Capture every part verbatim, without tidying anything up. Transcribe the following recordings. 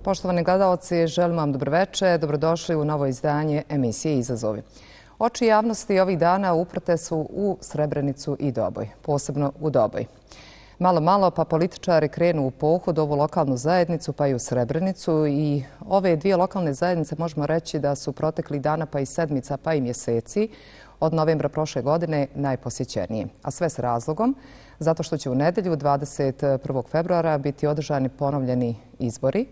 Poštovani gledalci, želim vam dobroveče, dobrodošli u novo izdanje emisije Izazovi. Oči javnosti ovih dana uprte su u Srebrenicu i Doboj, posebno u Doboj. Malo, malo pa političari krenu u pohod ovu lokalnu zajednicu pa i u Srebrenicu i ove dvije lokalne zajednice možemo reći da su proteklih dana pa i sedmica pa i mjeseci od novembra prošle godine najposjećenije. A sve s razlogom, zato što će u nedjelju dvadeset prvog februara biti održani ponovljeni izbori,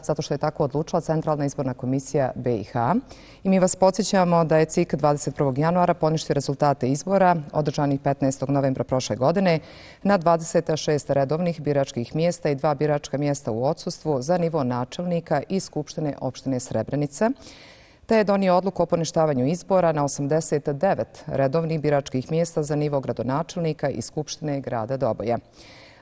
zato što je tako odlučila Centralna izborna komisija B i H. I mi vas podsjećamo da je C I K dvadeset prvog januara poništio rezultate izbora održanih petnaestog novembra prošle godine na dvadeset šest redovnih biračkih mjesta i dva biračka mjesta u odsustvu za nivo načelnika i Skupštine opštine Srebrenica, te je donio odluku o poništavanju izbora na osamdeset devet redovnih biračkih mjesta za nivo gradonačelnika i Skupštine grada Doboja.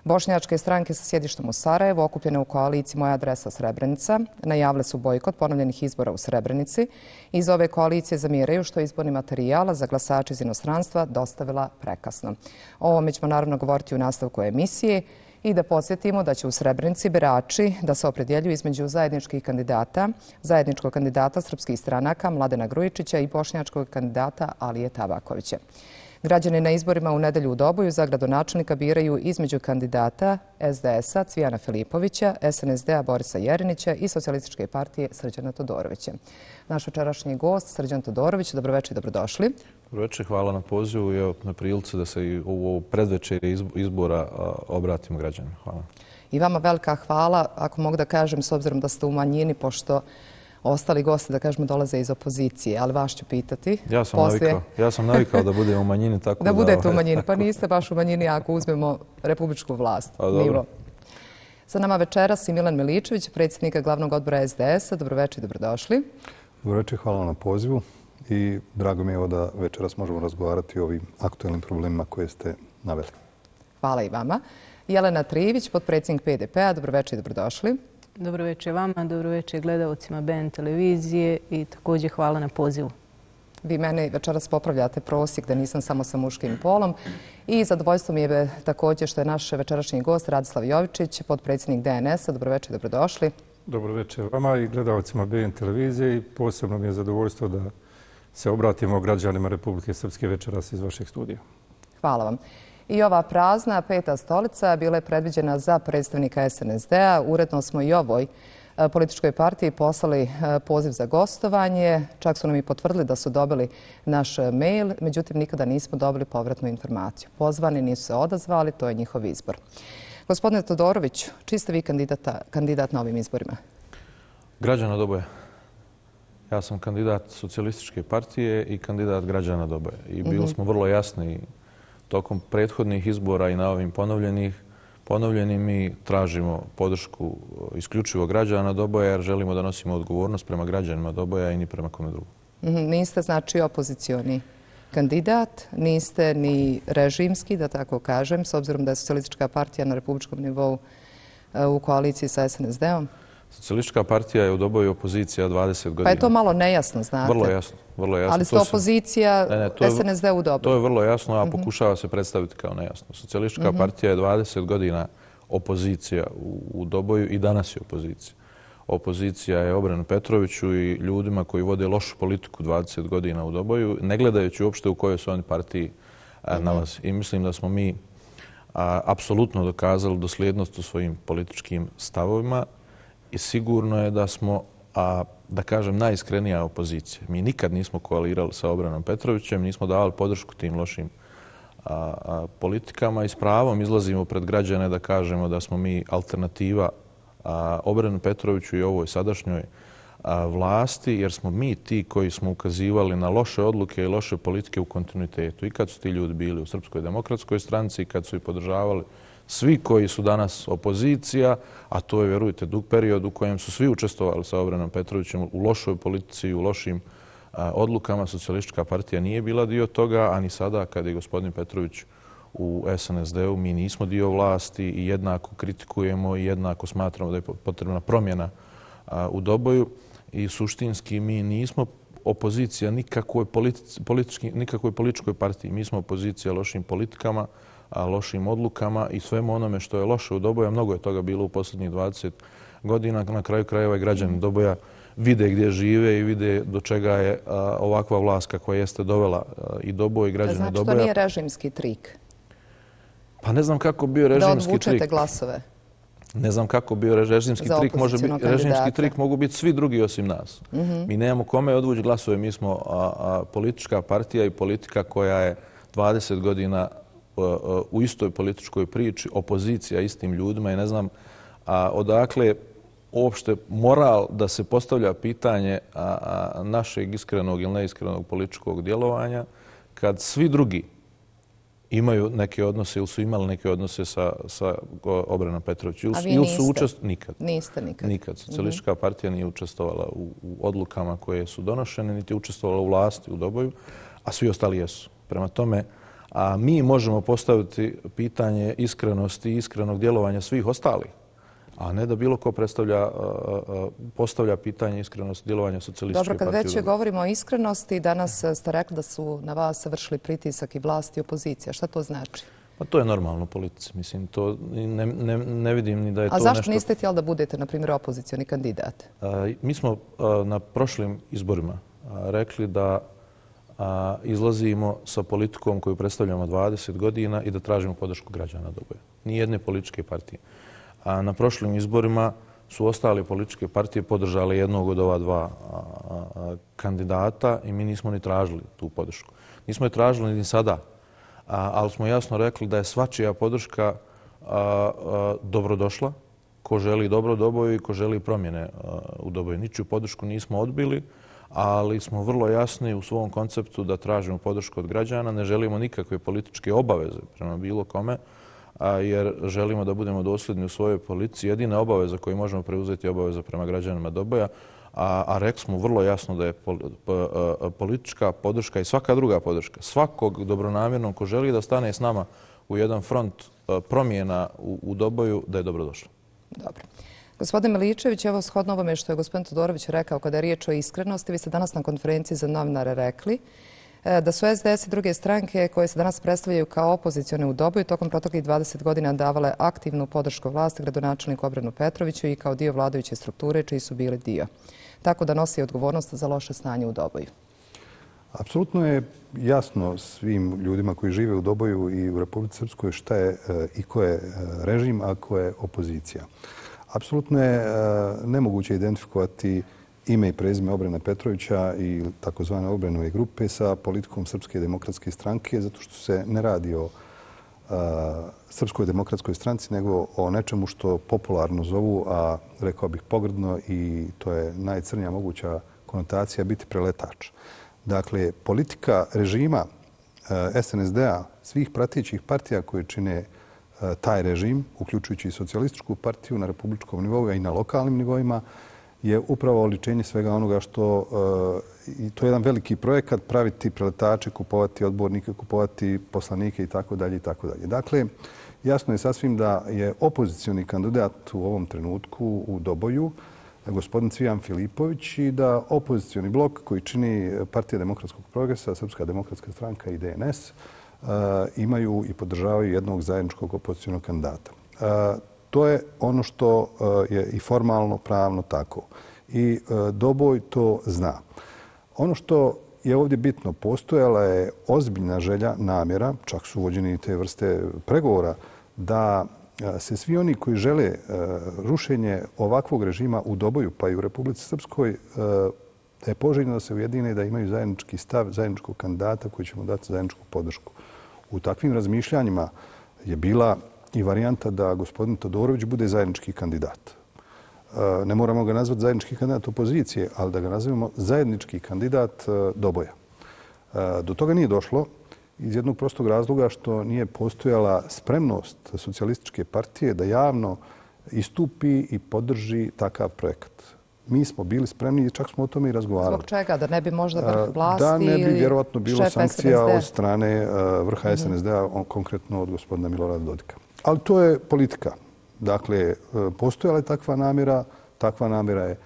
Bošnjačke stranke sa sjedištem u Sarajevu, okupljene u koaliciji Moja adresa Srebrenica, najavile su bojkot ponovljenih izbora u Srebrenici. Iz ove koalicije zamjeraju što je izborni materijal za glasače iz inostranstva dostavila prekasno. O ovome ćemo naravno govoriti u nastavku emisije i da podsjetimo da će u Srebrenici birači da se opredjeljuju između zajedničkih kandidata, zajedničkog kandidata srpskih stranaka Mladena Grujičića i bošnjačkog kandidata Alije Tabakovića. Građani na izborima u nedelju u Doboju za gradonačelnika biraju između kandidata S D S-a Cvijana Filipovića, S N S D-a Borisa Jerinića i Socijalističke partije Srđana Todorovića. Naš večerašnji gost, Srđan Todorović, dobroveče i dobrodošli. Dobroveče, hvala na pozivu i na prilici da se i u ovo predvečerje izbora obratimo građanima. Hvala. I vama velika hvala, ako mogu da kažem, s obzirom da ste u manjini, pošto ostali gosti, da kažemo, dolaze iz opozicije, ali vas ću pitati. Ja sam navikao, ja sam navikao da budem u manjini, tako da... Da budete u manjini, pa niste baš u manjini ako uzmemo republičku vlast. A dobro. Sa nama večeras i Milan Miličević, predsjednika glavnog odbora S D S-a. Dobroveče i dobrodošli. Dobroveče, hvala na pozivu i drago mi je da večeras možemo razgovarati o ovim aktualnim problemima koje ste naveli. Hvala i vama. Jelena Trivić, potpredsjednik P D P-a. Dobroveče i dobrodošli. Dobroveče vama, dobroveče gledalcima B N televizije i također hvala na pozivu. Vi mene večeras popravljate prosjek da nisam samo sa muškim polom i zadovoljstvo mi je također što je naš večerašnji gost Radislav Jovičić, potpredsjednik D N S-a. Dobroveče i dobrodošli. Dobroveče vama i gledalcima B N televizije i posebno mi je zadovoljstvo da se obratimo građanima Republike Srpske večeras iz vašeg studija. Hvala vam. I ova prazna peta stolica bila je predviđena za predstavnika S N S D-a. Uredno smo i ovoj političkoj partiji poslali poziv za gostovanje. Čak su nam i potvrdili da su dobili naš mail, međutim nikada nismo dobili povratnu informaciju. Pozvani nisu se odazvali, to je njihov izbor. Gospodine Todorović, čiji ste vi kandidat na ovim izborima? Građana Doboja. Ja sam kandidat Socijalističke partije i kandidat građana Doboja. I bili smo vrlo jasni tokom prethodnih izbora i na ovim ponovljenih, ponovljeni mi tražimo podršku isključivo građana Doboja jer želimo da nosimo odgovornost prema građanima Doboja i ni prema kome drugom. Niste znači opozicioni kandidat, niste ni režimski, da tako kažem, s obzirom da je Socijalistička partija na republičkom nivou u koaliciji sa S N S D-om? Socijalistička partija je u Doboju opozicija dvadeset godina. Pa je to malo nejasno, znate. Vrlo jasno. Vrlo jasno. Ali ste opozicija S N S D u Doboju. To je vrlo jasno, a pokušava se predstaviti kao nejasno. Socijalistička partija je dvadeset godina opozicija u Doboju i danas je opozicija. Opozicija je Obrenu Petroviću i ljudima koji vode lošu politiku dvadeset godina u Doboju, ne gledajući uopšte u kojoj su oni partiji nalazi. I mislim da smo mi apsolutno dokazali dosljednost u svojim političkim stavovima i sigurno je da smo, a, da kažem, najiskrenija opozicija. Mi nikad nismo koalirali sa Obranom Petrovićem, nismo davali podršku tim lošim a, a, politikama i s pravom izlazimo pred građane da kažemo da smo mi alternativa a, Obranu Petroviću i ovoj sadašnjoj a, vlasti, jer smo mi ti koji smo ukazivali na loše odluke i loše politike u kontinuitetu. I kad su ti ljudi bili u Srpskoj demokratskoj stranci i kad su ih podržavali svi koji su danas opozicija, a to je, vjerujte, dug period u kojem su svi učestvovali sa Obranom Petrovićem u lošoj politici i u lošim a, odlukama. Socijalistička partija nije bila dio toga, a ni sada kad je gospodin Petrović u S N S D-u, mi nismo dio vlasti i jednako kritikujemo i jednako smatramo da je potrebna promjena a, u Doboju. I suštinski mi nismo opozicija nikakvoj, politički, nikakvoj političkoj partiji. Mi smo opozicija lošim politikama, lošim odlukama i svemu onome što je loše u Doboju. Mnogo je toga bilo u posljednjih dvadeset godina. Na kraju krajeva i građani Doboja vide gdje žive i vide do čega je ovakva vlast kakva jeste dovela i Doboj i građane Doboja. Znači to nije režimski trik? Pa ne znam kako bio režimski trik. Da odvučete glasove? Ne znam kako bio režimski trik. Može biti režimski trik, mogu biti svi drugi osim nas. Mi nemamo kome odvući glasove. Mi smo politička partija i politika koja je dvadeset godina u istoj političkoj priči, opozicija istim ljudima i ne znam odakle uopšte moral da se postavlja pitanje našeg iskrenog ili neiskrenog političkog djelovanja kad svi drugi imaju neke odnose ili su imali neke odnose sa, sa Obranom Petrovićem. A vi niste? Nikad. Niste nikad? Nikad. Socijalistička partija nije učestvovala u, u odlukama koje su donošene, niti je učestvovala u vlasti u Doboju, a svi ostali jesu. Prema tome, a mi možemo postaviti pitanje iskrenosti i iskrenog djelovanja svih ostalih, a ne da bilo ko predstavlja, postavlja pitanje iskrenosti djelovanja socijalističke partije. Dobro, kad već govorimo o iskrenosti, danas ste rekli da su na vas vršili pritisak i vlast i opozicija. Šta to znači? Pa to je normalno u politici. Mislim, to ne, ne, ne vidim ni da je to nešto... A zašto nešto... niste htjeli da budete, na primjer, opozicioni kandidat? A, mi smo a, na prošlim izborima a, rekli da a, izlazimo sa politikom koju predstavljamo dvadeset godina i da tražimo podršku građana Doboja. Nijedne političke partije. A na prošlim izborima su ostale političke partije podržale jednog od ova dva a, a, kandidata i mi nismo ni tražili tu podršku. Nismo je tražili ni sada, a, ali smo jasno rekli da je svačija podrška a, a, dobrodošla, ko želi dobro Doboju i ko želi promjene a, u Doboju. Ničiju podršku nismo odbili, ali smo vrlo jasni u svom konceptu da tražimo podršku od građana. Ne želimo nikakve političke obaveze prema bilo kome, jer želimo da budemo dosljedni u svojoj politici. Jedina obaveza koju možemo preuzeti je obaveza prema građanima Doboja, a, a rekli smo vrlo jasno da je pol, p, politička podrška i svaka druga podrška svakog dobronamjernog ko želi da stane s nama u jedan front promjena u, u Doboju, da je dobrodošlo. Dobro. Gospodin Miličević, evo shodno ovome što je gospodin Todorović rekao kada je riječ o iskrenosti, vi ste danas na konferenciji za novinare rekli da su S D S i druge stranke koje se danas predstavljaju kao opozicione u Doboju tokom proteklih dvadeset godina davale aktivnu podršku vlasti gradonačelniku Obranu Petroviću i kao dio vladajuće strukture čiji su bili dio. Tako da nosi odgovornost za loše stanje u Doboju. Apsolutno je jasno svim ljudima koji žive u Doboju i u Republici Srpskoj šta je i ko je režim, a ko je opozicija. Apsolutno je nemoguće identifikovati ime i prezime Obrana Petrovića i takozvane Obranove grupe sa politikom Srpske demokratske stranke, zato što se ne radi o a, Srpskoj demokratskoj stranci, nego o nečemu što popularno zovu, a rekao bih pogrdno, i to je najcrnija moguća konotacija, biti preletač. Dakle, politika režima a, S N S D-a, svih pratećih partija koje čine a, taj režim, uključujući i socijalističku partiju na republičkom nivou i na lokalnim nivoima, je upravo oličenje svega onoga što, i to je jedan veliki projekat, praviti preletače, kupovati odbornike, kupovati poslanike i tako dalje i tako dalje. Dakle, jasno je sasvim da je opozicioni kandidat u ovom trenutku u Doboju gospodin Cvijan Filipović i da opozicioni blok koji čini Partija demokratskog progresa, Srpska demokratska stranka i D N S imaju i podržavaju jednog zajedničkog opozicijonog kandidata. To je ono što je i formalno, pravno tako. I Doboj to zna. Ono što je ovdje bitno, postojala je ozbiljna želja, namjera, čak su uvođeni te vrste pregovora, da se svi oni koji žele rušenje ovakvog režima u Doboju, pa i u Republici Srpskoj, da je poželjno da se ujedine i da imaju zajednički stav, zajedničkog kandidata koji će mu dati zajedničku podršku. U takvim razmišljanjima je bila i varijanta da gospodin Todorović bude zajednički kandidat. Ne moramo ga nazvati zajednički kandidat opozicije, ali da ga nazivamo zajednički kandidat Doboja. Do toga nije došlo iz jednog prostog razloga što nije postojala spremnost socijalističke partije da javno istupi i podrži takav projekat. Mi smo bili spremni i čak smo o tome i razgovarali. Zbog čega? Da ne bi možda vrh vlasti ili Da ne bi vjerovatno bilo sankcija od strane vrha S N S D-a, konkretno od gospodina Milorada Dodika. Ali to je politika. Dakle, postojala je takva namjera, takva namjera je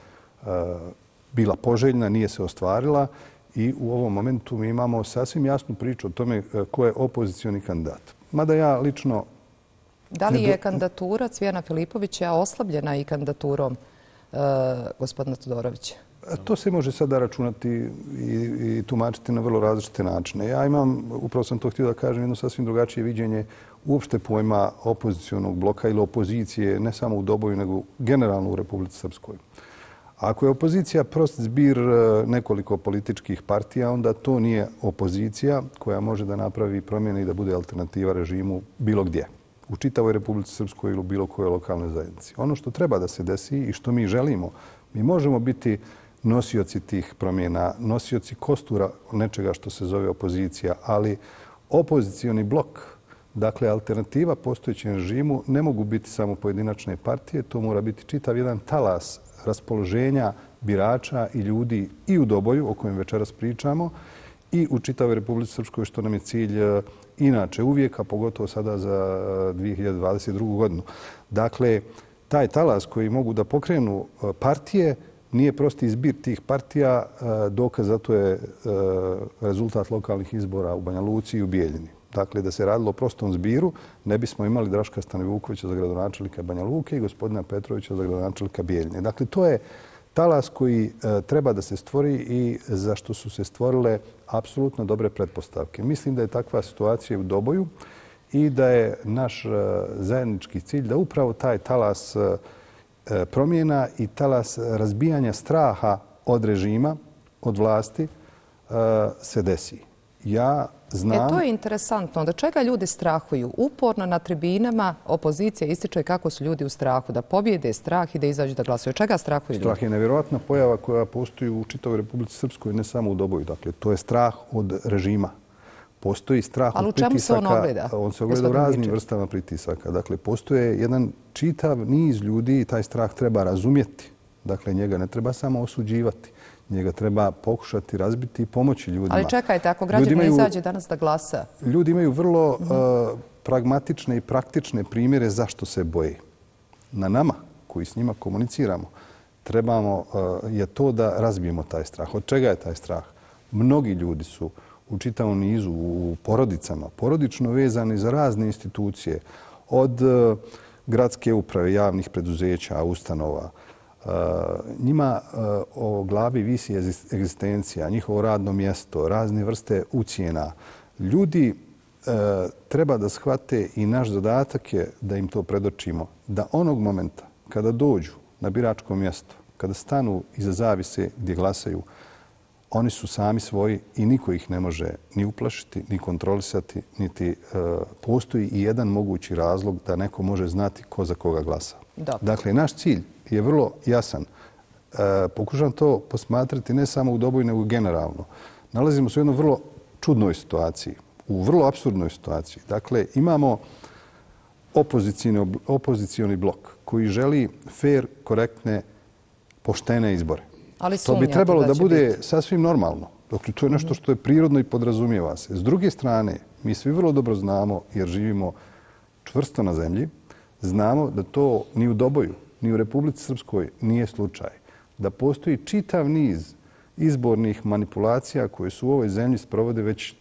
bila poželjna, nije se ostvarila i u ovom momentu mi imamo sasvim jasnu priču o tome ko je opozicioni kandidat. Mada ja lično Da li je kandidatura Cvijana Filipovića oslabljena i kandidaturom uh, gospodina Todorovića? To se može sada računati i, i tumačiti na vrlo različite načine. Ja imam, upravo sam to htio da kažem, jedno sasvim drugačije viđenje uopšte pojma opozicionog bloka ili opozicije, ne samo u Doboju, nego generalno u Republici Srpskoj. Ako je opozicija prost zbir nekoliko političkih partija, onda to nije opozicija koja može da napravi promjene i da bude alternativa režimu bilo gdje, u čitavoj Republici Srpskoj ili u bilo kojoj lokalnoj zajednici. Ono što treba da se desi i što mi želimo, mi možemo biti nosioci tih promjena, nosioci kostura nečega što se zove opozicija, ali opozicioni blok, dakle alternativa postojećem režimu, ne mogu biti samo pojedinačne partije, to mora biti čitav jedan talas raspoloženja birača i ljudi i u Doboju, o kojem večeras pričamo, i u čitavoj Republici Srpskoj, što nam je cilj inače uvijek, a pogotovo sada za dvije hiljade dvadeset drugu. godinu. Dakle, taj talas koji mogu da pokrenu partije nije prosti izbir tih partija, dokaz za to je rezultat lokalnih izbora u Banja Luci i u Bijeljini. Dakle, da se radilo o prostom zbiru, ne bismo imali Draška Stanovukovića za gradonačelnika Banja Luke i gospodina Petrovića za gradonačelnika Bijeljine. Dakle, to je talas koji treba da se stvori i za što su se stvorile apsolutno dobre pretpostavke. Mislim da je takva situacija u Doboju i da je naš zajednički cilj da upravo taj talas promjena i talas razbijanja straha od režima, od vlasti, se desi. Ja znam... E, to je interesantno. Da čega ljudi strahuju? Uporno na tribinama opozicija ističe kako su ljudi u strahu, da pobjede strah i da izađu da glasuju. Čega strahuju ljudi? Strah je nevjerojatna pojava koja postoji u čitavoj Republici Srpskoj, ne samo u Doboju. Dakle, to je strah od režima. Postoji strah od pritisaka. Ali u čemu se on ogleda? On se ogleda u raznim vrstama pritisaka. Dakle, postoje jedan čitav niz ljudi i taj strah treba razumjeti. Dakle, njega ne treba samo osuđivati. Njega treba pokušati razbiti i pomoći ljudima. Ali čekajte, ako građani ne izađe danas da glasa? Ljudi imaju vrlo uh, pragmatične i praktične primjere zašto se boje. Na nama, koji s njima komuniciramo, trebamo uh, je to da razbijemo taj strah. Od čega je taj strah? Mnogi ljudi su u čitavom nizu, u porodicama, porodično vezani za razne institucije, od uh, gradske uprave, javnih preduzeća, ustanova. Uh, njima uh, o glavi visi egzistencija, njihovo radno mjesto, razne vrste ucijena. Ljudi uh, treba da shvate i naš zadatak je da im to predočimo, da onog momenta kada dođu na biračko mjesto, kada stanu iza zavise gdje glasaju, oni su sami svoji i niko ih ne može ni uplašiti, ni kontrolisati, niti uh, postoji i jedan mogući razlog da neko može znati ko za koga glasa. Dobro. Dakle, naš cilj je vrlo jasan. E, pokušam to posmatrati ne samo u Doboju, nego generalno. Nalazimo se u jednoj vrlo čudnoj situaciji, u vrlo apsurdnoj situaciji. Dakle, imamo opozicioni blok koji želi fair, korektne, poštene izbore. Ali to bi trebalo da, da bude biti sasvim normalno. Dakle, to je nešto što je prirodno i podrazumijeva se. S druge strane, mi svi vrlo dobro znamo, jer živimo čvrsto na zemlji, znamo da to ni u Doboju, ni u Republici Srpskoj nije slučaj. Da postoji čitav niz izbornih manipulacija koje su u ovoj zemlji sprovode već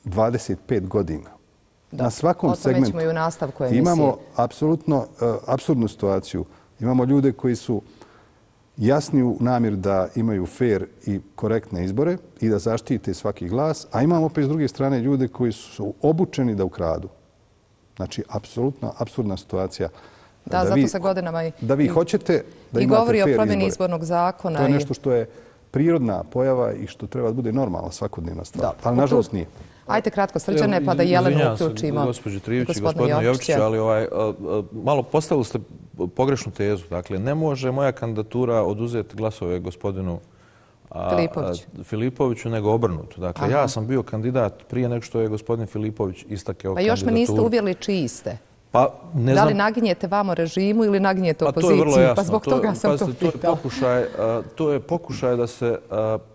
dvadeset pet godina. Da, na svakom segmentu i u nastavku emisije. Imamo apsolutno uh, apsurdnu situaciju. Imamo ljude koji su jasni u namjeru da imaju fair i korektne izbore i da zaštite svaki glas, a imamo opet s druge strane ljude koji su obučeni da ukradu. Znači, apsolutno apsurdna situacija. Da, da zato vi, se godinama i, da vi hoćete da i imate govori fair o promjeni izbore. Izbornog zakona. To je nešto što je prirodna pojava i što treba da bude normalna svakodnevna stvar. Da. Ali nažalost nije. Ajde kratko, Srđane, pa da Jelenu uključimo. Gospođo Trivić i gospodinu Jovičiću, ali ovaj, malo postavili ste pogrešnu tezu. Dakle, ne može moja kandidatura oduzeti glasove gospodinu Filipović. Filipoviću, nego obrnuto. Dakle, Aha. ja sam bio kandidat prije nego što je gospodin Filipović istakao kandidaturu. Pa još me niste uvjerili čiji ste. Pa, ne da li znam... naginjete vamo režimu ili naginjete pa, opoziciji? To je vrlo jasno. Pa zbog to, toga sam pazite, to pitao. To je, pokušaj, to je pokušaj da se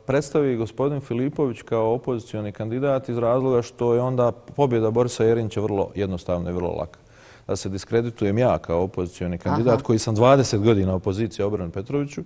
predstavi gospodin Filipović kao opozicioni kandidat iz razloga što je onda pobjeda Borisa Jerinća vrlo jednostavna i vrlo laka. Da se diskreditujem ja kao opozicioni kandidat Aha. koji sam dvadeset godina opozicija Obranu Petroviću,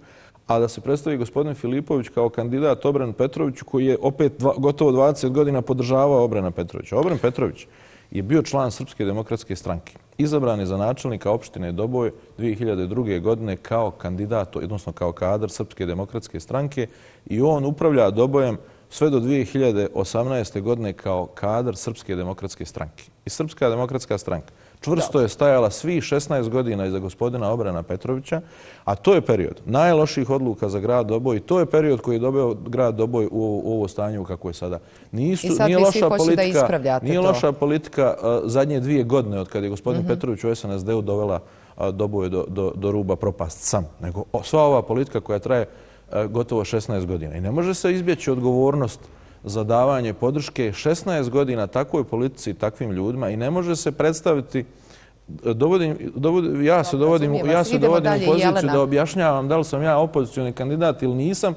a da se predstavi gospodin Filipović kao kandidat Obranu Petroviću koji je opet dva, gotovo dvadeset godina podržavao Obrana Petrovića. Obran Petrović je bio član Srpske demokratske stranke. Izabran je za načelnika opštine Doboj dvije hiljade druge. godine kao kandidat, odnosno kao kadar Srpske demokratske stranke i on upravlja Dobojem sve do dvije hiljade osamnaeste. godine kao kadar Srpske demokratske stranke. I Srpska demokratska stranka čvrsto je stajala svih šesnaest godina iza gospodina Obrana Petrovića, a to je period najloših odluka za grad Doboj i to je period koji je dobio grad Doboj u, u ovo stanje kako je sada. Nisu, I sad nije vi loša svi hoćete da politika, ispravljate nije to. loša politika uh, zadnje dvije godine od kada je gospodin mm-hmm. Petrović u S N S D-u dovela uh, Doboj do, do, do ruba propast sam, nego o, sva ova politika koja traje uh, gotovo šesnaest godina. I ne može se izbjeći odgovornost za davanje podrške šesnaest godina takvoj politici i takvim ljudima i ne može se predstaviti. Dovodim, dovodim, ja se dovodim, ja se dovodim u poziciju da objašnjavam da li sam ja opozicioni kandidat ili nisam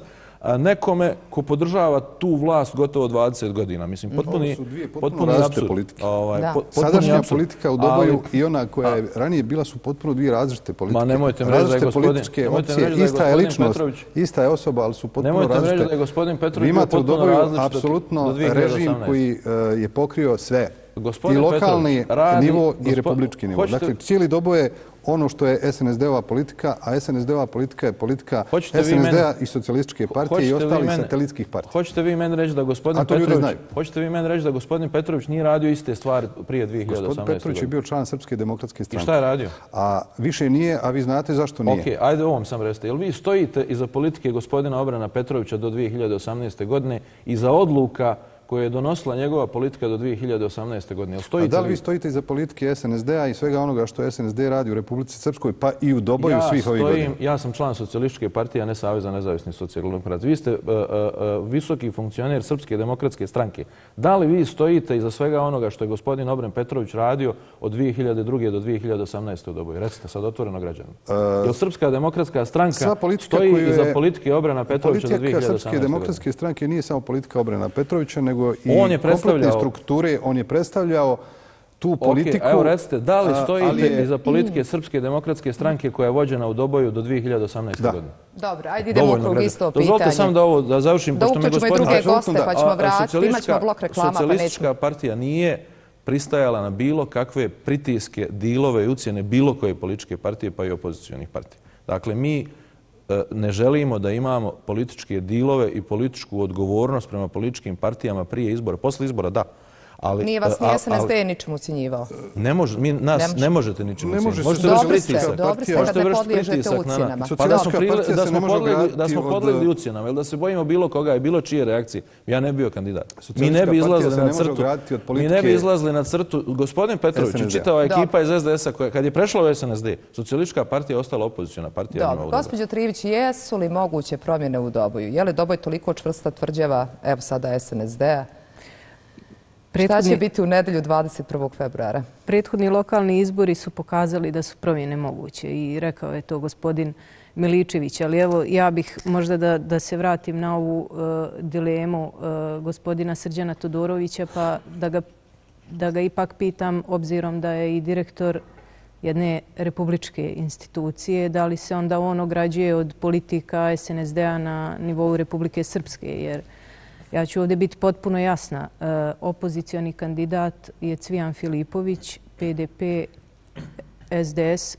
nekome ko podržava tu vlast gotovo dvadeset godina. Mislim, potpuni, Ovo su dvije potpuno potpuni različite apsurd. politike. Ovaj, Da. po- potpuni Sadašnja apsurd. politika u Doboju Ali- i ona koja je ranije bila su potpuno dvije različite politike. Ma nemojte mi reći da je Različite gospodin- političke nemojte mi opcije, reći da je ista je gospodin ličnost, Petrović- ista je osoba, ali su potpuno Nemojte mi reći različite. da je gospodin Petrović Vi bio imate u potpuno Doboju različit do- do apsolutno dvije hiljade režim osamnaeste. koji uh, je pokrio sve. Gospodin I lokalni Petrović radi- nivo i gospo- republički nivo. hoćete- Dakle, cijeli Doboj je ono što je S N S D-ova politika, a S N S D-ova politika je politika Hoćete vi S N S D-a mene- i socijalističke partije i Hoćete vi ostalih mene- satelitskih partija. Hoćete vi meni reći da gospodin A to ljudi Petrović, znaju. hoćete vi meni reći da gospodin Petrović nije radio iste stvari prije dvije hiljade Gospodin osamnaeste. Petrović je godine? bio član Srpske demokratske I stranke. šta je radio? A više nije, a vi znate zašto nije. Ok, ajde ovom sam recite. Jel vi stojite iza politike gospodina Obrana Petrovića do dvije hiljade osamnaeste. godine i za odluka koje je donosila njegova politika do dvije hiljade osamnaeste. godine? Jel A stojite da li vi stojite iza politike S N S D-a i svega onoga što S N S D radi u Republici Srpskoj, pa i u Doboju ja svih ovih stojim, godina? ja sam član socijalističke partije, a ne Saveza nezavisnih socijaldemokrata. Vi ste uh, uh, visoki funkcioner Srpske demokratske stranke. Da li vi stojite iza svega onoga što je gospodin Obran Petrović radio od dvije hiljade druge. do dvije hiljade osamnaeste. u Doboju? Recite sad otvoreno građanima. Jel Srpska demokratska stranka stoji koju iza je- politike Obrana Petrovića do dvije Politika hiljade Srpske osamnaeste. godine? demokratske stranke nije samo politika Obrana Petrovića, nego i On je kompletne predstavljao- strukture. On je predstavljao tu politiku. Ok, evo recite, da li a, stojite ali je- iza politike Srpske demokratske stranke koja je vođena u Doboju do dvije hiljade osamnaeste. Da. godine? Dobro, ajde idemo Dovoljno okrug građana. isto Dozvolite pitanje. samo da ovo da završim, Da pošto me uključimo i gospodin... druge Apsolutno goste, da. pa ćemo A, vratiti. Imat ćemo socijalistička- blok reklama, pa nećemo. Socijalistička partija nije pristajala na bilo kakve pritiske, dilove i ucjene bilo koje političke partije, pa i opozicionih partija. Dakle, mi e, ne želimo da imamo političke dilove i političku odgovornost prema političkim partijama prije izbora. Posle izbora, da. Ali, Nije vas e, ni a- S N S D ali- ničemu ucjenjivao. Ne može, mi, nas Ne ne, može. možete ničemu Ne može ucijeniti. se Možete Dobri vršiti ste, pritisak. dobri ste Možete kad ne vršiti podliježete pritisak na nas. ucjenama. Pa da smo, Socijalistička prili- partija da se smo, ne može podlegli, da ograditi smo od- podlegli ucjenama, ili da se bojimo bilo koga i bilo čije reakcije, ja ne bi bio kandidat. Mi ne Socijalistička bi partija izlazili se na ne može crtu. ograditi od Mi ne bi politike izlazili na crtu. Gospodin Petrović i S N S D. čitava Dobro. ekipa iz S D S-a, koja kad je prešla u S N S D, socijalistička partija je ostala opoziciona partija. Dobro, njima u Doboju. gospođo Trivić, jesu li moguće promjene u Doboju? Je li Doboj toliko čvrsta tvrđava, evo sada S N S D-a? Šta će Prethodni, biti u nedelju dvadeset prvog februara? prethodni lokalni izbori su pokazali da su promjene moguće i rekao je to gospodin Miličević. Ali evo, ja bih možda da, da se vratim na ovu uh, dilemu uh, gospodina Srđana Todorovića, pa da ga, da ga ipak pitam, obzirom da je i direktor jedne republičke institucije, da li se onda on ograđuje od politika S N S D-a na nivou Republike Srpske, jer ja ću ovdje biti potpuno jasna. E, opozicioni kandidat je Cvijan Filipović, P D P, S D S,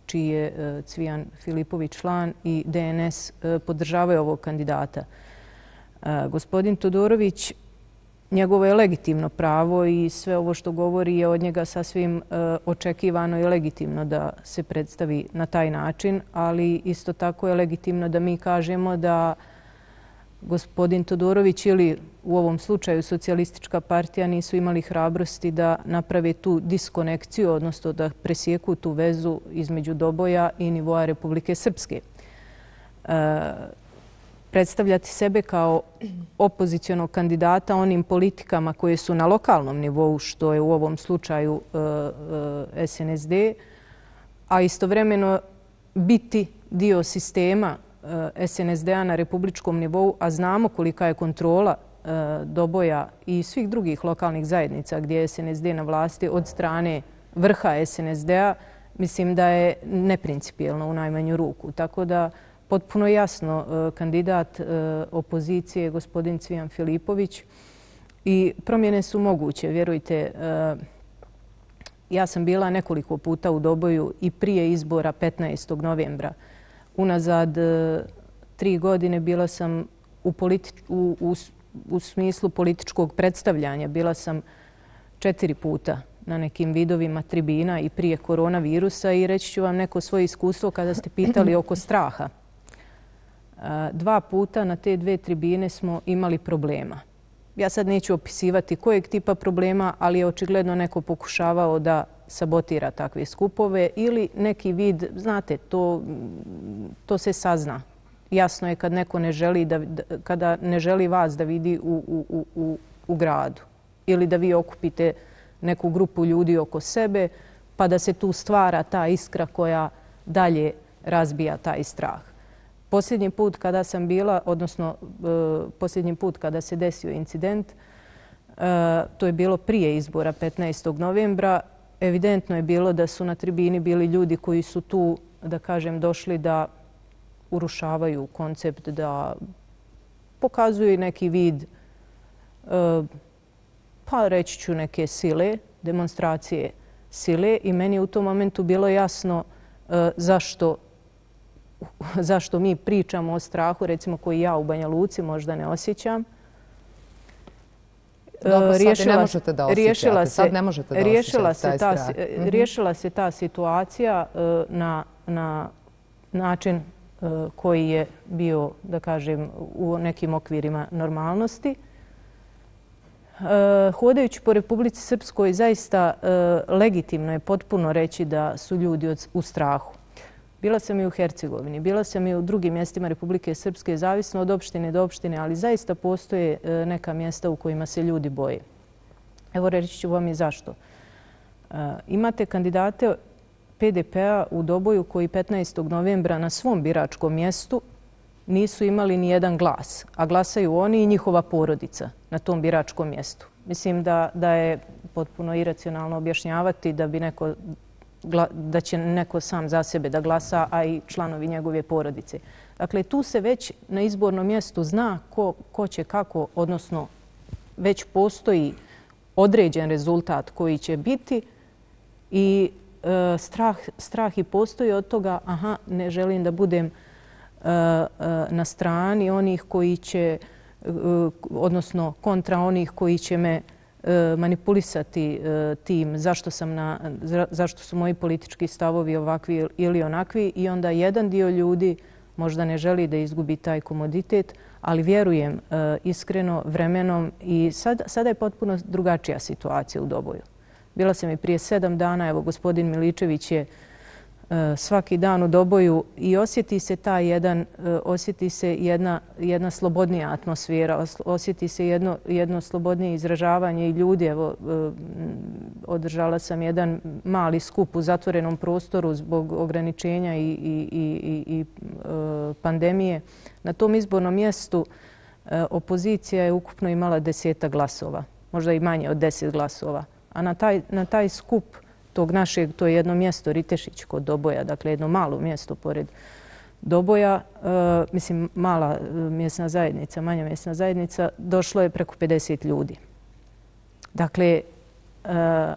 čiji je e, Cvijan Filipović član, i D N S e, podržavaju ovog kandidata. E, gospodin Todorović, njegovo je legitimno pravo i sve ovo što govori je od njega sasvim e, očekivano i legitimno da se predstavi na taj način, ali isto tako je legitimno da mi kažemo da gospodin Todorović ili u ovom slučaju socijalistička partija nisu imali hrabrosti da naprave tu diskonekciju, odnosno da presjeku tu vezu između Doboja i nivoa Republike Srpske. E, predstavljati sebe kao opozicionog kandidata onim politikama koje su na lokalnom nivou, što je u ovom slučaju e, e, S N S D, a istovremeno biti dio sistema S N S D-a na republičkom nivou, a znamo kolika je kontrola e, Doboja i svih drugih lokalnih zajednica gdje je S N S D na vlasti od strane vrha S N S D-a, mislim da je neprincipijelno u najmanju ruku. Tako da potpuno jasno e, kandidat e, opozicije gospodin Cvijan Filipović i promjene su moguće. Vjerujte, e, ja sam bila nekoliko puta u Doboju i prije izbora petnaestog novembra. Unazad tri godine bila sam u, politi- u, u, u smislu političkog predstavljanja. Bila sam četiri puta na nekim vidovima tribina i prije koronavirusa i reći ću vam neko svoje iskustvo kada ste pitali oko straha. Dva puta na te dve tribine smo imali problema. Ja sad neću opisivati kojeg tipa problema, ali je očigledno neko pokušavao da sabotira takve skupove ili neki vid, znate, to, to se sazna. Jasno je kad neko ne želi da, kada ne želi vas da vidi u, u, u, u gradu ili da vi okupite neku grupu ljudi oko sebe pa da se tu stvara ta iskra koja dalje razbija taj strah. Posljednji put kada sam bila, odnosno posljednji put kada se desio incident, to je bilo prije izbora petnaestog novembra, evidentno je bilo da su na tribini bili ljudi koji su tu, da kažem, došli da urušavaju koncept, da pokazuju neki vid, pa reći ću neke sile, demonstracije sile i meni je u tom momentu bilo jasno zašto zašto mi pričamo o strahu, recimo koji ja u Banja Luci možda ne osjećam. Dobro, sad ne možete da osjećate. Sad ne možete da riješila osjećate taj strah. Riješila se ta situacija na, na način koji je bio, da kažem, u nekim okvirima normalnosti. Hodajući po Republici Srpskoj, zaista legitimno je potpuno reći da su ljudi u strahu. Bila sam i u Hercegovini, bila sam i u drugim mjestima Republike Srpske, zavisno od opštine do opštine, ali zaista postoje neka mjesta u kojima se ljudi boje. Evo reći ću vam i zašto. Imate kandidate P D P-a u Doboju koji petnaestog novembra na svom biračkom mjestu nisu imali ni jedan glas, a glasaju oni i njihova porodica na tom biračkom mjestu. Mislim da, da je potpuno iracionalno objašnjavati da bi neko da će neko sam za sebe da glasa, a i članovi njegove porodice. Dakle, tu se već na izbornom mjestu zna ko, ko će kako, odnosno već postoji određen rezultat koji će biti i e, strah, strah i postoji od toga, aha, ne želim da budem e, e, na strani onih koji će, e, odnosno kontra onih koji će me manipulisati tim zašto sam na, zašto su moji politički stavovi ovakvi ili onakvi i onda jedan dio ljudi možda ne želi da izgubi taj komoditet, ali vjerujem iskreno vremenom i sad, sada je potpuno drugačija situacija u Doboju. Bila sam i prije sedam dana, evo gospodin Miličević je svaki dan u Doboju i osjeti se ta jedan, osjeti se jedna, jedna slobodnija atmosfera, osjeti se jedno, jedno slobodnije izražavanje i ljudi. Evo, održala sam jedan mali skup u zatvorenom prostoru zbog ograničenja i, i, i, i pandemije. Na tom izbornom mjestu opozicija je ukupno imala deseta glasova, možda i manje od deset glasova. A na taj, na taj skup tog našeg, to je jedno mjesto Ritešić kod Doboja, dakle jedno malo mjesto pored Doboja, e, mislim mala mjesna zajednica, manja mjesna zajednica, došlo je preko pedeset ljudi. Dakle, e,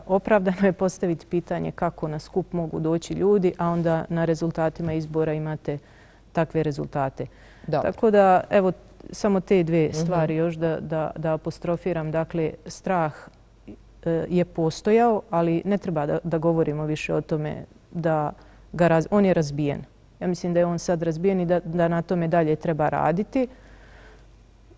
opravdano je postaviti pitanje kako na skup mogu doći ljudi, a onda na rezultatima izbora imate takve rezultate. Dobro. Tako da, evo, samo te dve stvari još da, da, da apostrofiram. Dakle, strah je postojao, ali ne treba da, da govorimo više o tome da ga raz, on je razbijen. Ja mislim da je on sad razbijen i da, da na tome dalje treba raditi.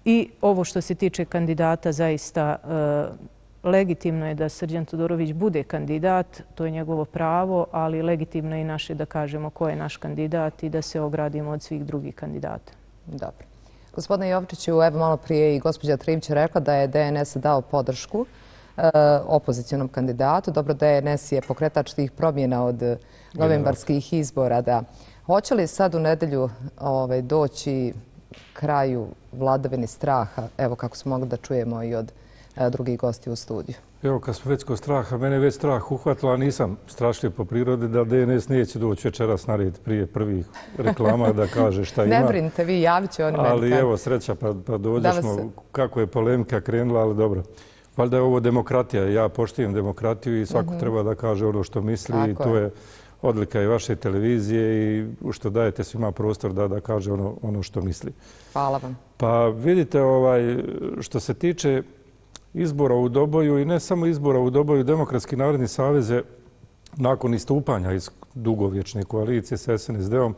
I ovo što se tiče kandidata, zaista e, legitimno je da Srđan Todorović bude kandidat, to je njegovo pravo, ali legitimno je i naše da kažemo ko je naš kandidat i da se ogradimo od svih drugih kandidata. Dobro. Gospodine Jovičiću, evo malo prije i gospođa Trivć rekla da je D N S dao podršku opozicionom kandidatu. Dobro, D N S je pokretač tih promjena od novembarskih izbora. Da. Hoće li sad u nedelju ovaj, doći kraju vladavini straha, evo kako smo mogli da čujemo i od a, drugih gosti u studiju? Evo, kad smo već kod straha, mene već strah uhvatila, nisam strašljiv po prirodi da D N S neće doći večeras na red prije prvih reklama da kaže šta ima. Ne brinite, vi javit će oni meni. Ali evo, sreća pa, pa dođemo kako je polemika krenula, ali dobro. Valjda je ovo demokratija. Ja poštijem demokratiju i svako treba da kaže ono što misli. I to je odlika i vaše televizije i što dajete svima prostor da, da kaže ono, ono što misli. Hvala vam. Pa vidite, ovaj, što se tiče izbora u Doboju i ne samo izbora u Doboju, Demokratski narodni savez je nakon istupanja iz dugovječne koalicije s S N S D-om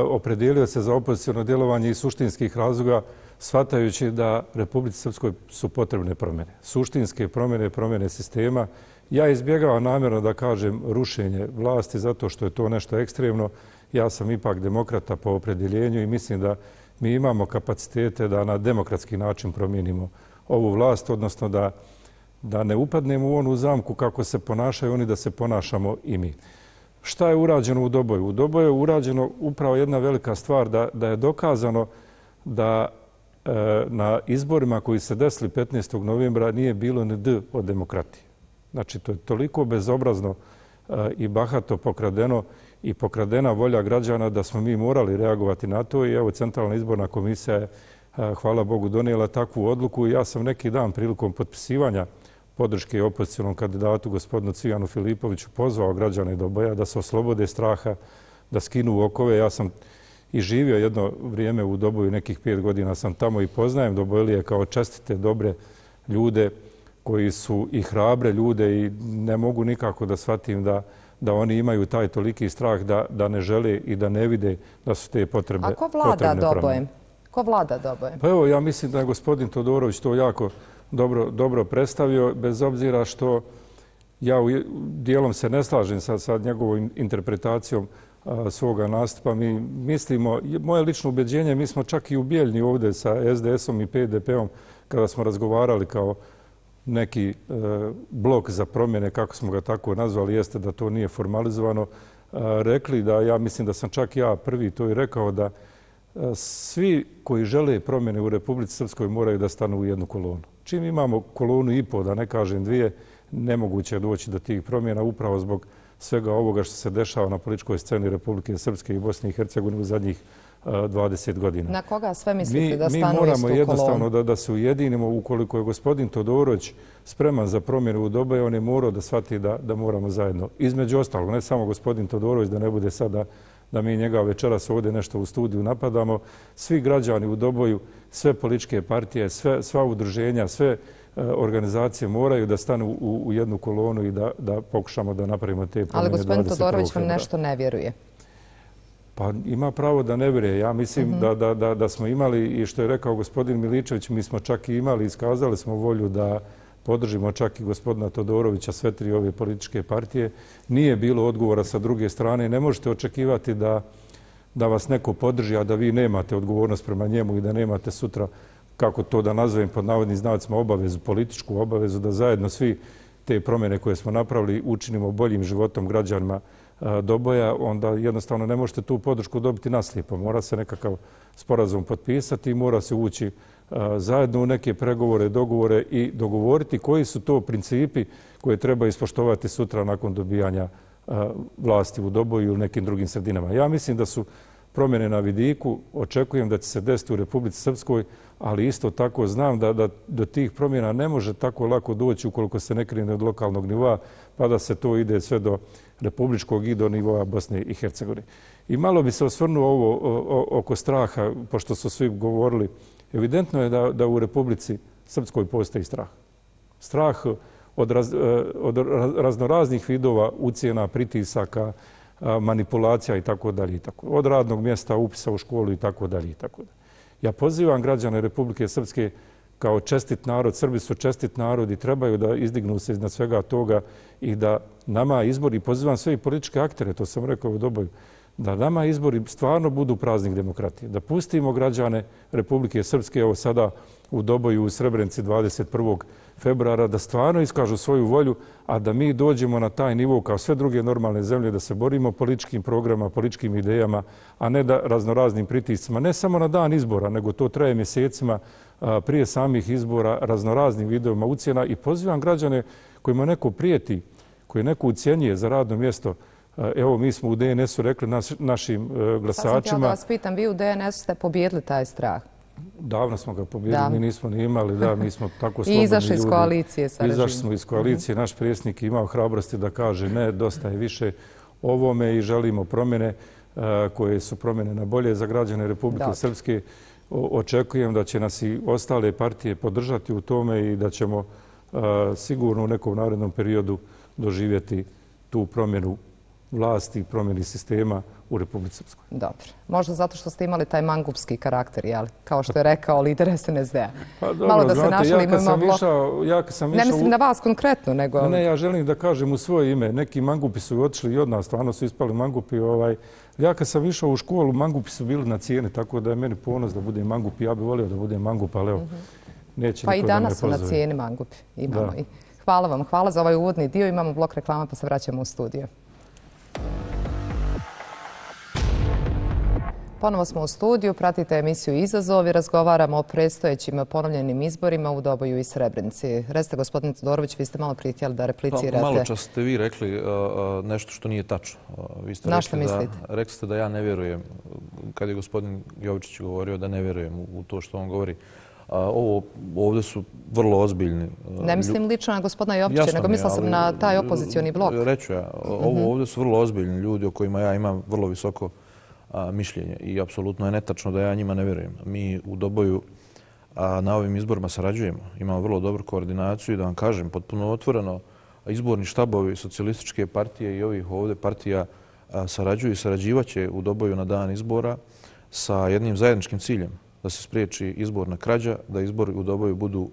opredijelio se za opoziciono djelovanje iz suštinskih razloga, shvatajući da Republici Srpskoj su potrebne promjene. Suštinske promjene, promjene sistema. Ja izbjegavam namjerno da kažem rušenje vlasti zato što je to nešto ekstremno. Ja sam ipak demokrata po opredjeljenju i mislim da mi imamo kapacitete da na demokratski način promijenimo ovu vlast, odnosno da, da ne upadnemo u onu zamku kako se ponašaju oni, da se ponašamo i mi. Šta je urađeno u Doboju? U Doboju je urađeno upravo jedna velika stvar, da, da je dokazano da e, na izborima koji se desili petnaestog novembra nije bilo ni D od demokratije. Znači, to je toliko bezobrazno e, i bahato pokradeno i pokradena volja građana da smo mi morali reagovati na to i evo Centralna izborna komisija je, hvala Bogu, donijela takvu odluku. Ja sam neki dan prilikom potpisivanja podrške opozicionom kandidatu gospodinu Cvijanu Filipoviću pozvao građane Doboja da se oslobode straha, da skinu okove. Ja sam i živio jedno vrijeme u Doboju, nekih pet godina sam tamo i poznajem Dobojlije kao čestite, dobre ljude koji su i hrabre ljude i ne mogu nikako da shvatim da da oni imaju taj toliki strah da, da ne žele i da ne vide da su te potrebe. A ko vlada Dobojem? Ko vlada Dobojem? Pa evo, ja mislim da je gospodin Todorović to jako dobro, dobro predstavio, bez obzira što ja u dijelom se ne slažem sa, sa njegovom interpretacijom a, svoga nastupa. Mi mislimo, moje lično ubeđenje, mi smo čak i u Bijeljni ovdje sa S D S-om i P D P-om kada smo razgovarali kao neki e, blok za promjene, kako smo ga tako nazvali, jeste da to nije formalizovano, e, rekli da, ja mislim da sam čak ja prvi to i rekao, da e, svi koji žele promjene u Republici Srpskoj moraju da stanu u jednu kolonu. Čim imamo kolonu i po, da ne kažem dvije, nemoguće je doći do tih promjena upravo zbog svega ovoga što se dešava na političkoj sceni Republike Srpske i Bosne i Hercegovine u zadnjih dvadeset godina. Na koga sve mislite mi, da stanu mi istu moramo kolonu? jednostavno da, da se ujedinimo. Ukoliko je gospodin Todorović spreman za promjenu u Doboju, on je morao da shvati da, da moramo zajedno. Između ostalog, ne samo gospodin Todorović, da ne bude sada da mi njega večeras ovdje nešto u studiju napadamo. Svi građani u Doboju, sve političke partije, sve, sva udruženja, sve organizacije moraju da stanu u, u jednu kolonu i da, da pokušamo da napravimo te promjene. Ali gospodin Todorović vam nešto ne vjeruje. Pa ima pravo da ne vjeruje. Ja mislim mm-hmm. da, da, da, da smo imali, i što je rekao gospodin Miličević, mi smo čak i imali, iskazali smo volju da podržimo čak i gospodina Todorovića, sve tri ove političke partije. Nije bilo odgovora sa druge strane. Ne možete očekivati da, da vas neko podrži, a da vi nemate odgovornost prema njemu i da nemate sutra, kako to da nazovem pod navodnim znacima, obavezu, političku obavezu, da zajedno svi te promjene koje smo napravili učinimo boljim životom građanima Doboja, onda jednostavno ne možete tu podršku dobiti naslijepo. Mora se nekakav sporazum potpisati i mora se ući zajedno u neke pregovore, dogovore i dogovoriti koji su to principi koje treba ispoštovati sutra nakon dobijanja vlasti u Doboju ili nekim drugim sredinama. Ja mislim da su promjene na vidiku, očekujem da će se desiti u Republici Srpskoj, ali isto tako znam da, da do tih promjena ne može tako lako doći ukoliko se ne krene od lokalnog nivoa, pa da se to ide sve do republičkog i do nivoa Bosne i Hercegovine. I malo bi se osvrnuo ovo o, o, oko straha, pošto su svi govorili. Evidentno je da, da u Republici Srpskoj postoji strah. Strah od, raz, od raznoraznih vidova ucjena, pritisaka, manipulacija i tako dalje. Od radnog mjesta, upisa u školu i tako dalje. Ja pozivam građane Republike Srpske kao čestit narod, Srbi su čestit narod i trebaju da izdignu se iznad svega toga i da nama izbori, pozivam sve i političke aktere, to sam rekao u Doboju, da nama izbori stvarno budu praznik demokratije. Da pustimo građane Republike Srpske, evo sada u Doboju u Srebrenici dvadeset prvog februara, da stvarno iskažu svoju volju, a da mi dođemo na taj nivo kao sve druge normalne zemlje, da se borimo političkim programama, političkim idejama, a ne da raznoraznim pritiscima, ne samo na dan izbora, nego to traje mjesecima prije samih izbora, raznoraznim videoma ucjena i pozivam građane kojima neko prijeti, koji neko ucjenjuje za radno mjesto. Evo, mi smo u D N S-u rekli naš, našim glasačima... Sad sam htjela da vas pitam, vi u D N S-u ste pobjedili taj strah? davno smo ga pobjedili, mi nismo ni imali, da, mi smo tako slobodni ljudi. I izašli iz koalicije sa režimom. Izašli smo iz koalicije, naš predsjednik je imao hrabrosti da kaže ne, dosta je više ovome i želimo promjene koje su promjene na bolje za građane Republike Srpske. Očekujem da će nas i ostale partije podržati u tome i da ćemo sigurno u nekom narednom periodu doživjeti tu promjenu vlasti i promjeni sistema u Republici Srpskoj. Dobro. Možda zato što ste imali taj mangupski karakter, jel? Kao što je rekao lider S N S D-a. Pa dobro, znate, ja kad sam išao... Ne mislim na vas konkretno, nego... Ne, ja želim da kažem u svoje ime. Neki mangupi su otišli i od nas, stvarno su ispali mangupi. Ja kad sam išao u školu, mangupi su bili na cijene, tako da je meni ponos da budem mangup. Ja bih volio da budem mangup, ali evo, neće niko da me pozove. Pa i danas su na cijeni mangupi. Imamo i. Hvala vam. Hvala za ovaj uvodni dio. Imamo blok reklama pa se vraćamo u studio. Ponovo smo u studiju, pratite emisiju Izazov i razgovaramo o predstojećim ponovljenim izborima u Doboju i Srebrenici. Recite, gospodine Todorović, vi ste malo prije htjeli da replicirate. Malo čas ste vi rekli nešto što nije tačno. Na što mislite? Rekli ste da ja ne vjerujem, kad je gospodin Jovičić govorio, da ne vjerujem u to što on govori. Ovo ovdje su vrlo ozbiljni. Ne mislim lično na gospodina Jovića, nego mislila sam na taj opozicioni blok. Reću ja, ovo ovdje su vrlo ozbiljni ljudi o kojima ja imam vrlo visoko mišljenje i apsolutno je netačno da ja njima ne vjerujem. Mi u Doboju na ovim izborima sarađujemo. Imamo vrlo dobru koordinaciju i da vam kažem, potpuno otvoreno, izborni štabovi socijalističke partije i ovih ovdje partija sarađuju i sarađivaće u Doboju na dan izbora sa jednim zajedničkim ciljem, da se spriječi izborna krađa, da izbori u Doboju budu